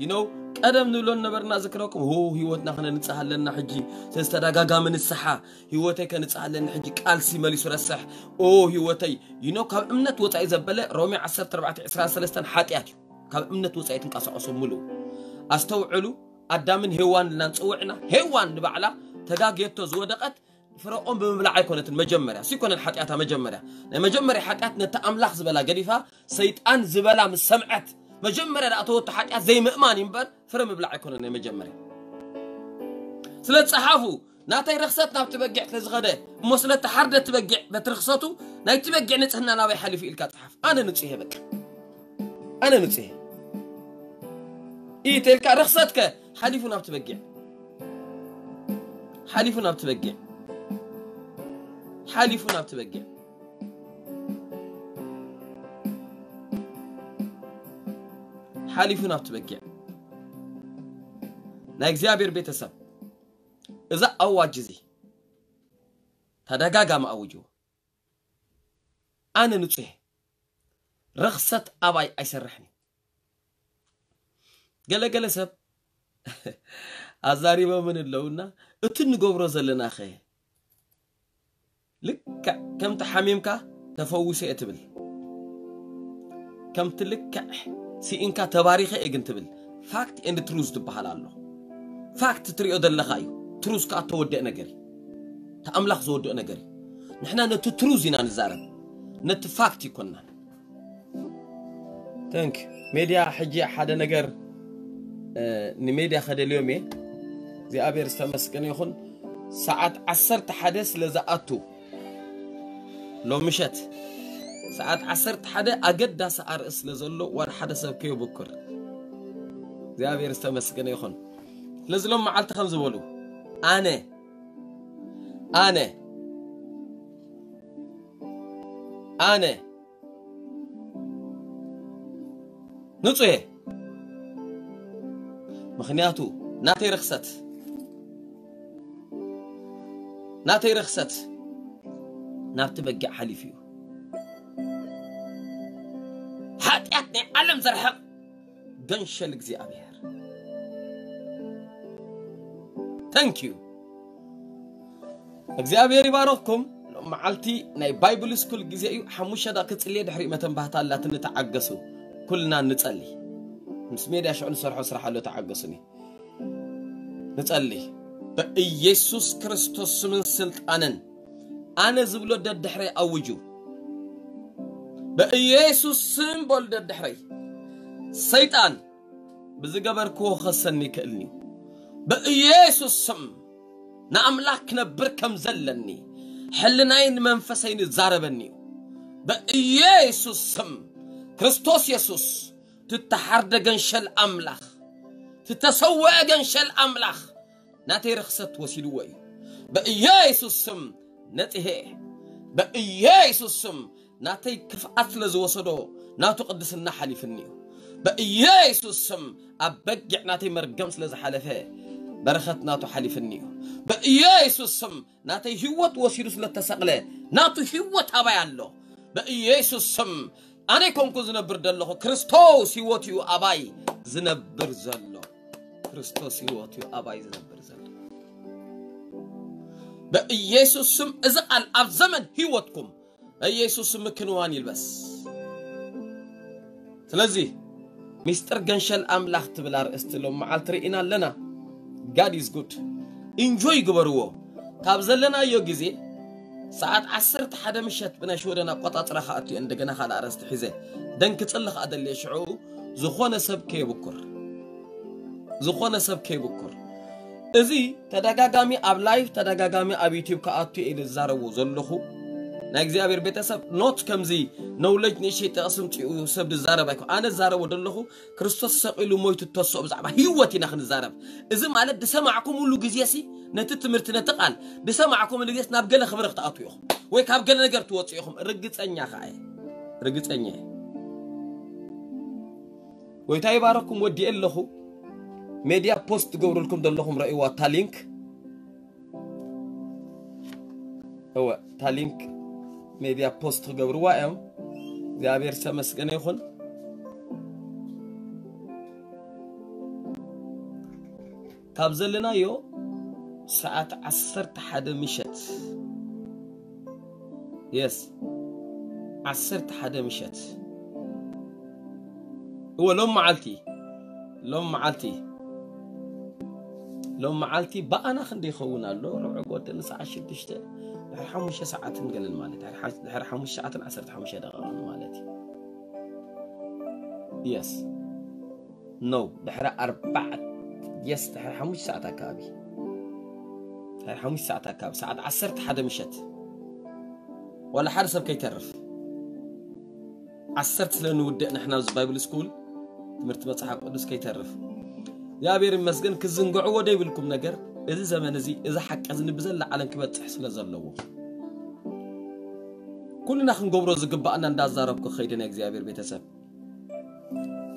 you know ቀደም ንብሎ ነበርና ዝክረኩም ሆ ህይወትና ክነንጽህ ኣለና ሕጂ ስለዚ ተደጋጋሚ ንስሓ ህይወተይ ከንጽህ ኣለኒ ሕጂ ቃልሲ መሊሱ ረስሕ ኦ ህይወተይ you know ካብ እምነት ወጻኢ ዘበለ ሮሜ ዓሰርተ ኣርባዕተ ዕስራን ሰለስተን ሓጢኣት እዩ ካብ እምነት ወጻኢ ትንቀሳቀሱ ምሉ ኣስተውዕሉ ኣዳምን ሄዋን ኢልና ንጽውዕና ሄዋን ንባዕላ ተጋግየቶ ዝወደቀት ፍረኦም ብምብላዕ ኣይኮነትን መጀመርያ ሲኮነን ሓጢኣታ መጀመርያ ናይ መጀመርያ ሓጢኣት ነቲ ኣምላኽ ዝበላ ገዲፋ ሰይጣን ዝበላ ምስ ሰምዐት መጀመርያ ደኣ ተወቶ ሓጢኣት ዘይምእማን እዩ እምበር ፍረ ምብላዕ ኣይኮነን ናይ መጀመርያ ስለ ጸሓፉ ናተይ ርኽሰት ናብቲ በጊዕ ስለ ዝኸደ እሞ ስለ ተሓርደ እቲ በጊዕ በቲ ርኽሰቱ ናይቲ በጊዕ ንጽህና ናበይ ሓሊፉ ኢልካ ጸሓፍ ኣነ ንጹህ እየ በቃ ኣነ ንጹህ እየ ኢተልካ ርኽሰትከ ሓሊፉ ናብቲ በጊዕ ሓሊፉ ናብቲ በጊዕ ሓሊፉ ናብቲ በጊዕ ሓሊፉ ናብቲ በጊዕ ናይ እግዚኣብሔር ቤተሰብ እዛ ኣዋጅ እዚ ተደጋጋሚ ኣውጅዎ ኣነ ንጹህ ረኽሰት ኣባይ ኣይሰርሕን እዩ ገለገለ ሰብ ኣዛሪቦምን ኣለውና እቲ ንገብሮ ዘለናኸ ልክዕ ከምቲ ሓሚምካ ተፈዊሰ እየ ትብል ከምቲ ልክዕ ስኢንካ ተባሪኸ እየ ግን ትብል ፋክት ኤንድ ትሩዝ ትበሃል ኣሎ ፋክት ትሪኦ ዘለኻ እዩ ትሩዝ ከዓ ተወደአ ነገር እዩ ተኣምላኽ ዝወድኦ ነገር እዩ ንሕና ነቲ ትሩዝ ኢና ንዛረብ ነቲ ፋክት ይኮንናን ተንክ ሜድያ ሕጂ ሓደ ነገር ንሜድያ ከደልዮም እየ እግዚኣብሔር ዝተመስገነ ይኹን ሰዓት ዓሰርተ ሓደ ስለ ዝኣቱ ሎምሸት ሰዓት ዓሰርተ ሓደ ኣገዳሲ ኣርእስ ስለ ዘሎ ዋላ ሓደ ሰብ ከየብኩር እግዚኣብሔር ዝተመስገነ ይኹን ስለዚ ሎም መዓልቲ ከም ዝበሉ ኣነ ኣነ ኣነ ንጹህ እየ ምኽንያቱ ናተይ ርኽሰት ናተይ ርኽሰት ናብቲ በጊዕ ሓሊፉ እዩ ናይ ዓለም ዘርሕቕ ገንሸል እግዚኣብሔር። Thank you። እግዚኣብሔር ይባረኽኩም። ሎም መዓልቲ ናይ ባይብል ስኩል ግዜ እዩ። ሓሙሽተ ደቂቕ ክጽልየ፣ ድሕሪኡ መተንባህታ ኣላትኒ፣ ተዓገሱ። ኩልና ንጸሊ። ምስ ሜድያ ሽዑ ንሰርሖ ስራሕ ኣሎ፣ ተዓገሱኒ። ንጸሊ። ብኢየሱስ ክርስቶስ ስምን ስልጣንን ኣነ ዝብሎ ደድሕረይ ኣውጁ። ብኢየሱስ ስም በሉ ደድሕረይ። ሰይጣን ብዝገበርክዎ ክኸሰኒ ይክእልኒ። ብኢየሱስ ስም ንኣምላኽ ክነብር ከም ዘለኒ ሕልናይን መንፈሰይን ይዛረበኒ እዩ። ብኢየሱስ ስም ክርስቶስ የሱስ ትተሓርደ ገንሸል ኣምላኽ፣ ትተሰወአ ገንሸል ኣምላኽ ናተይ ርኽሰት ወሲድዎ እዩ። ብኢየሱስ ስም ነጽሄ። ብኢየሱስ ስም ናተይ ክፍኣት ስለ ዝወሰዶ ናቱ ቅድስና ሓሊፍኒ እዩ። ብኢየሱስ ስም ኣብ በጊዕ ናተይ መርገም ስለ ዝሓለፈ በረኸት ናቱ ሓሊፍኒ እዩ። ብኢየሱስ ስም ናተይ ህይወት ወሲዱ ስለ ተሰቕለ ናቱ ህይወት ኣባይ ኣሎ። ብኢየሱስ ስም ኣነ ኮንኩ ዝነብር ዘለኹ፣ ክርስቶስ ህይወት እዩ ኣባይ ዝነብር ዘሎ። ክርስቶስ ህይወት እዩ ኣባይ ዝነብር ዘሎ። ብኢየሱስ ስም እዚ ቃል ኣብ ዘመን ህይወትኩም በኢየሱስ ስም ምክንዋን ይልበስ። ስለዚ ሚስጥር ገንሸል ኣምላኽ ትብል ኣርእስቲ ሎም መዓልቲ ርኢና ኣለና። God is good። ኢንጆይ ግበርዎ። ካብ ዘለናዮ ግዜ ሰዓት ዓሰርተ ሓደ ምሸት ብናይ ሽወደን ኣቆጻጽራ ክኣቱ እየ። እንደገና ካልእ ኣርእስቲ ሒዘ ደንክጽሊ ከኣ ደልየ ሽዑ ዝኾነ ሰብ ከየብኩር፣ ዝኾነ ሰብ ከየብኩር። እዚ ተደጋጋሚ ኣብ ላይፍ፣ ተደጋጋሚ ኣብ ዩቲዩብ ክኣቱ እየ ኢለ ዝዛረቦ ዘለኹ። ናይ እግዚኣብሔር ቤተሰብ ኖት ከምዚ ነውለጅ ንእሽተይ ጥቕሲ ምጽኡ ሰብ ዝዛረብ ኣይኮ ኣነ ዝዛረቦ ዘለኹ። ክርስቶስ ሰቒሉ ሞይቱ ተስኦ ብዛዕባ ህይወት ኢና ክንዛረብ። እዚ ማለት ዝሰማዕኩምሉ ግዜሲ ነቲ ትምህርቲ ነቲ ቃል ዝሰማዕኩምሉ ግዜስ ናብ ገለ ክብሪ ክትኣቱ ኢኹም ወይ ካብ ገለ ነገር ትወጽኡ ኢኹም። ርግጸኛ ከኣ እየ። ርግጸኛ እየ። ጎይታ ይባረኩም። ወዲኤ ኣለኹ። ሜድያ ፖስት ትገብሩልኩም ዘለኹም ረእይዋ እታ ሊንክ። እወ፣ እታ ሊንክ ሜድያ ፖስት ክገብርዋ እዮም። እግዚኣብሔር ዝተመስገነ ይኹን። ካብ ዘለናዮ ሰዓት ዓሰርተ ሓደ ምሸት፣ የስ፣ ዓሰርተ ሓደ ምሸት። እወ፣ ሎም መዓልቲ፣ ሎም መዓልቲ፣ ሎም መዓልቲ ብኣና ክንደይ ይኸውን ኣሎ? ርብዒ ጎደል ሰዓት ሽዱሽተ፣ ድሕሪ ሓሙሽተ ሰዓትን ገለን ማለት፣ ድሕሪ ሓ-፣ ድሕሪ ሓሙሽተ ሰዓትን ዓሰርተ ሓሙሽተ ደቂቕን ማለት እዩ። የስ። ኖ፣ ድሕሪ ኣርባዕተ፣ የስ፣ ድሕሪ ሓሙሽተ ሰዓት ኣካባቢ። ድሕሪ ሓሙሽተ ሰዓት ኣካባቢ፣ ሰዓት ዓሰርተ ሓደ ምሸት። ዋላ ሓደ ሰብ ከይተርፍ። ዓሰርተ ስለ ንውድእ ንሕና ኣብዚ ባይብል ስኩል ትምህርቲ መጽሓፍ ቅዱስ ከይተርፍ። እግዚኣብሔር ይመስገን፣ ክዝንግዕዎ ደይብልኩም ነገር፣ እዚ ዘመን እዚ፣ እዚ ሓቂ እዚ ንብዘላ ዓለም ክበጽሕ ስለ ዘለዎ። ኩልና ክንገብሮ ዝግባኣና እንዳዛረብኩ ከይደ ናይ እግዚኣብሔር ቤተሰብ።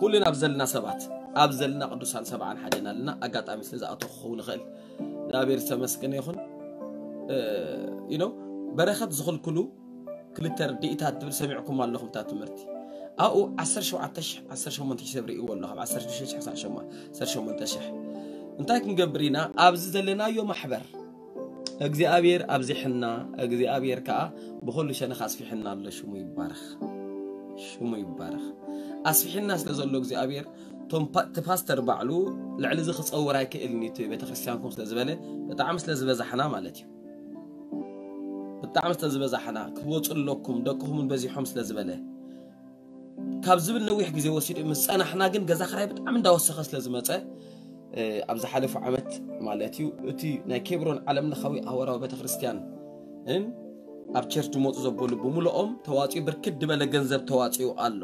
ኩልና ኣብ ዘለና ሰባት፣ ኣብ ዘለና ቅዱሳን ሰብዓን ሓደን ኣለና። ኣጋጣሚ ስለ ዝኣተኹ ክኸውን ይኽእል። እግዚኣብሔር ዝተመስገነ ይኹን። እ፣ you know፣ በረኸት ዝኽልክሉ ክልተ ርድኢታት ትብል ሰሚዕኩም ኣለኹም እታ ትምህርቲ። ኣብኡ ዓሰርተ ሸውዓተ ሽሕ፣ ዓሰርተ ሸሞንተ ሽሕ ሰብ ርእይዎ ኣሎ፣ ካብ ዓሰርተ ሽዱሽተ ሽሕ ክሳብ ሸማ-፣ ዓሰርተ ሸሞንተ ሽሕ። እንታይ ክንገብር ኢና? ኣብዚ ዘለናዮ ማሕበር እግዚኣብሔር ኣብዚሕና፣ እግዚኣብሔር ከኣ ብኹሉ ሸነኽ ኣስፊሕና ኣሎ። ሽሙ ይባረኽ፣ ሽሙ ይባረኽ። ኣስፊሕና ስለ ዘሎ እግዚኣብሔር፣ ቶም ፓ-፣ እቲ ፓስተር ባዕሉ ልዕሊ እዚ ክጸውር ኣይክእልን እዩ፣ እቲ ቤተክርስትያንኩም ስለ ዝበለ፣ ብጣዕሚ ስለ ዝበዛሕና ማለት እዩ። ብጣዕሚ ስለ ዝበዛሕና፣ ክትወጹ ኣለኩም፣ ደቅኹም እውን በዚሖም ስለ ዝበለ፣ ካብ ዝብል ነዊሕ ግዜ ወሲዱ ምስ ጸናሕና ግን ገዛ ክራይ ብጣዕሚ እንዳወሰኸ ስለ ዝመጸ፣ እ፣ ኣብ ዝሓለፉ ዓመት ማለት እዩ፣ እቲ ናይ ኬብሮን ዓለም ለኻዊ ኣህዋራዊ ቤተክርስትያን ን ኣብ ቸርች ዝመጹ ዘበሉ ብምልኦም ተዋጺኡ ብርክት ዝበለ ገንዘብ ተዋጺኡ ኣሎ።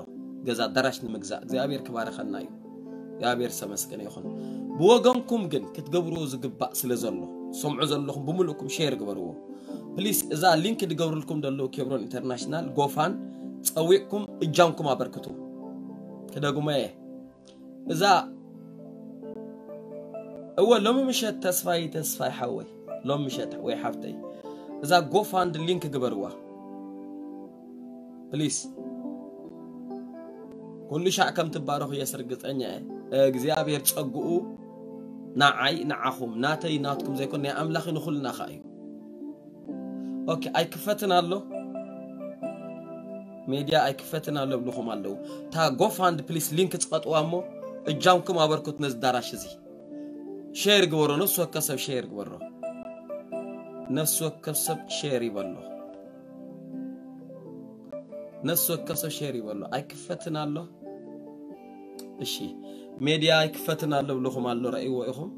ገዛ ኣዳራሽ ንምግዛእ እግዚኣብሔር ክባረኸና እዩ። እግዚኣብሔር ዝተመስገነ ይኹን። ብወገንኩም ግን ክትገብርዎ ዝግባእ ስለ ዘሎ፣ ሰምዑ ዘለኹም ብምልእኩም ሼር ግበርዎ። ፕሊስ፣ እዛ ሊንክ ዝገብርልኩም ዘለዉ ኬብሮን ኢንተርናሽናል ጎፋን ጸዊቕኩም እጃምኩም ኣበርክቱ። ክደግሞ እየ። እዛ፣ እወ፣ ሎሚ ምሸት ተስፋይ፣ ተስፋይ ሓወይ፣ ሎሚ ምሸት ወይ ሓፍተይ፣ እዛ ጎፋንድ ሊንክ ግበርዋ ፕሊስ። ኩሉ ሻዕ ከም ትባረኹ የስርግጸኛ እየ። እግዚኣብሔር ጸግኡ ንዓይ ንዓኹም፣ ናተይ ናትኩም ዘይኮን ናይ ኣምላኽ ንኹልና ኸኣ እዩ። ኦኬ፣ ኣይክፈትን ኣሎ፣ ሜድያ ኣይክፈትን ኣሎ ብልኹም ኣለዉ። እታ ጎፋንድ ፕሊስ ሊንክ ጽቐጥዋ እሞ እጃምኩም ኣበርኩት ነዚ ዳራሽ እዚ። ሼር ግበሮ፣ ነፍሲ ወከፍ ሰብ ሼር ግበሮ። ነፍሲ ወከፍ ሰብ ሼር ይበሎ። ነፍሲ ወከፍ ሰብ ሼር ይበሎ። ኣይክፈትን ኣሎ። እሺ፣ ሜድያ ኣይክፈትን ኣሎ ብልኹም ኣሎ፣ ረእይዎ ኢኹም።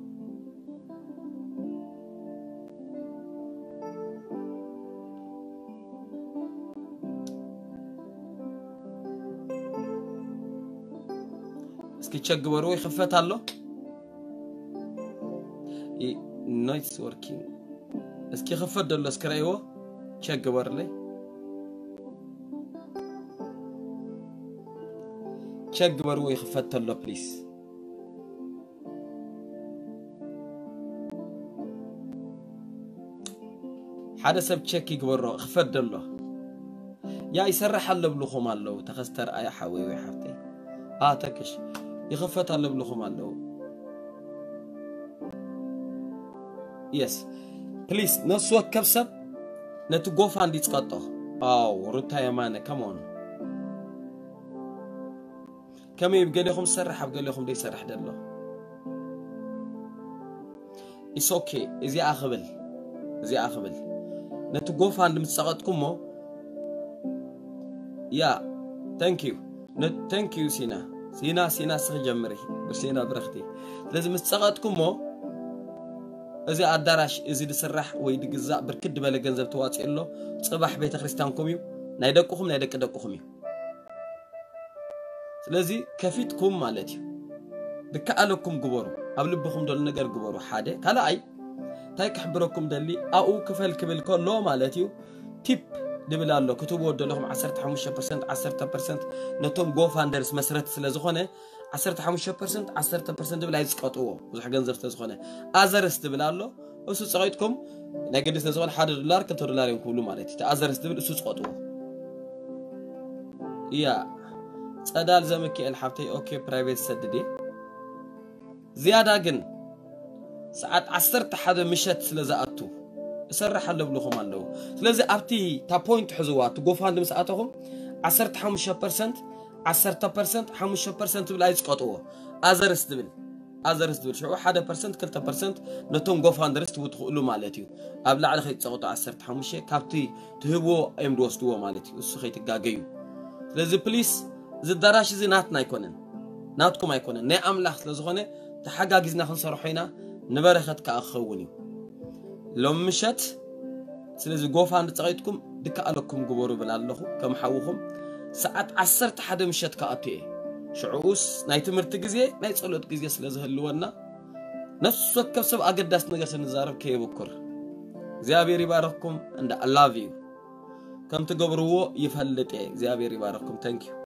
እስኪ ቸክ ግበርዎ፣ ይኽፈት ኣሎ። ኖይትስ ወርኪንግ። እስኪ ይኽፈት ደሎ እስኪ ረእይዎ፣ ቸክ ግበርለይ። ቸክ ግበርዎ፣ ይኽፈት ተሎ ፕሊስ። ሓደ ሰብ ቸክ ይግበሮ፣ ክፈት ደሎ። ያ ይሰርሕ ኣሎ ብልኹም ኣለዉ። ተኸስተ ርኣያ ሓወይ ወይ ሓፍተይ። ኣ፣ ተክሽ። ይኽፈት ኣሎ ብልኹም ኣለዉ። የስ። ፕሊስ፣ ነፍሲ ወከፍ ሰብ ነቲ ጎፋንድ ይጽቐጦ። ኣው፣ ሩታ የማነ፣ come on። ከመይ፣ ኣብ ገሌኹም ዝሰርሕ፣ ኣብ ገሌኹም ዘይሰርሕ ደሎ። ኢትስ ኦኬ። እዚኣ ክብል፣ እዚኣ ክብል። ነቲ ጎፋንድ ምስ ጸቐጥኩሞ፣ ያ፣ thank you። ነ-፣ thank you ሲና። ሲና፣ ሲና፣ እስኺ ጀምሪ። ብሲና ብረኽቲ። ስለዚ ምስ ጸቐጥኩሞ፣ እዚ ኣዳራሽ እዚ ዝስራሕ ወይ ዝግዛእ ብርክት ዝበለ ገንዘብ ተዋፂኡ ኣሎ። ጽባሕ ቤተ ክርስቲያንኩም እዩ። ናይ ደቅኹም፣ ናይ ደቂ ደቅኹም እዩ። ስለዚ ከፊትኩም ማለት እዩ። ዝከኣለኩም ግበሩ። ኣብ ልብኹም ደሎ ነገር ግበሩ። ሓደ። ካልኣይ፣ እንታይ ክሕብረኩም ደሊ፣ ኣብኡ ክፈል ክብል ከሎ ማለት እዩ፣ ቲፕ ድብል ኣሎ። ክትብዎ ደለኹም ዓሰርተ ሓሙሽተ ፐርሰንት፣ ዓሰርተ ፐርሰንት ነቶም ጎፋንደርስ መስረት ስለ ዝኾነ፣ ዓሰርተ ሓሙሽተ ፐርሰንት፣ ዓሰርተ ፐርሰንት ድብል ኣይዝቀጥዎ። ብዙሕ ገንዘብ ስለ ዝኾነ። ኣዘርስ ድብል ኣሎ። እሱ ጸቒጥኩም፣ ናይ ግዲ ስለ ዝኾነ ሓደ ዶላር፣ ክልተ ዶላር እዮም ክብሉ ማለት እዩ። እቲ ኣዘርስ ድብል እሱ ጸቐጥዎ። እያ፣ ጸዳል ዘሚካኤል ሓብተይ፣ ኦኬ፣ ፕራይቬት ሰድድ እየ። ዝያዳ ግን ሰዓት ዓሰርተ ሓደ ምሸት ስለ ዝኣቱ እሰርሕ ኣሎ ብልኹም ኣለዉ። ስለዚ ኣብቲ እታ ፖይንት ሕዝዋ፣ እቲ ጎፋንድ ምስ ኣተኹም ዓሰርተ ሓሙሽተ ፐርሰንት፣ ዓሰርተ ፐርሰንት፣ ሓሙሽተ ፐርሰንት ትብል ኣይጽቀጥዎ። ኣዘርስ ትብል፣ ኣዘርስ ትብል ሽዑ ሓደ ፐርሰንት፣ ክልተ ፐርሰንት ነቶም ጎፋንደርስ ትህቡ ትኽእሉ ማለት እዩ። ኣብ ላዕሊ ከይትጸቕጡ ዓሰርተ ሓሙሽተ ካብቲ ትህብዎ እዮም ዝወስድዎ ማለት እዩ። እሱ ከይትጋገዩ። ስለዚ ፕሊስ፣ እዚ ኣዳራሽ እዚ ናትና ኣይኮነን፣ ናትኩም ኣይኮነን፣ ናይ ኣምላኽ ስለ ዝኾነ ተሓጋጊዝና ክንሰርሖ ኢና፣ ንበረኸት ከኣ ክኸውን እዩ። ሎም ምሸት ስለዚ ጎፋንድ ጸቒጥኩም ድከኣለኩም ግበሩ ብል ኣለኹ፣ ከም ሓውኹም። ሰዓት ዓሰርተ ሓደ ምሸት ክኣቱ እየ። ሽዑኡስ ናይ ትምህርቲ ግዜ፣ ናይ ጸሎት ግዜ ስለ ዝህልወና፣ ነፍሲ ወከፍ ሰብ ኣገዳሲ ነገር ስንዛረብ ከየብኩር። እግዚኣብሔር ይባረኽኩም፣ and I love you። ከም ትገብርዎ ይፈልጥ እየ። እግዚኣብሔር ይባረኽኩም። Thank you።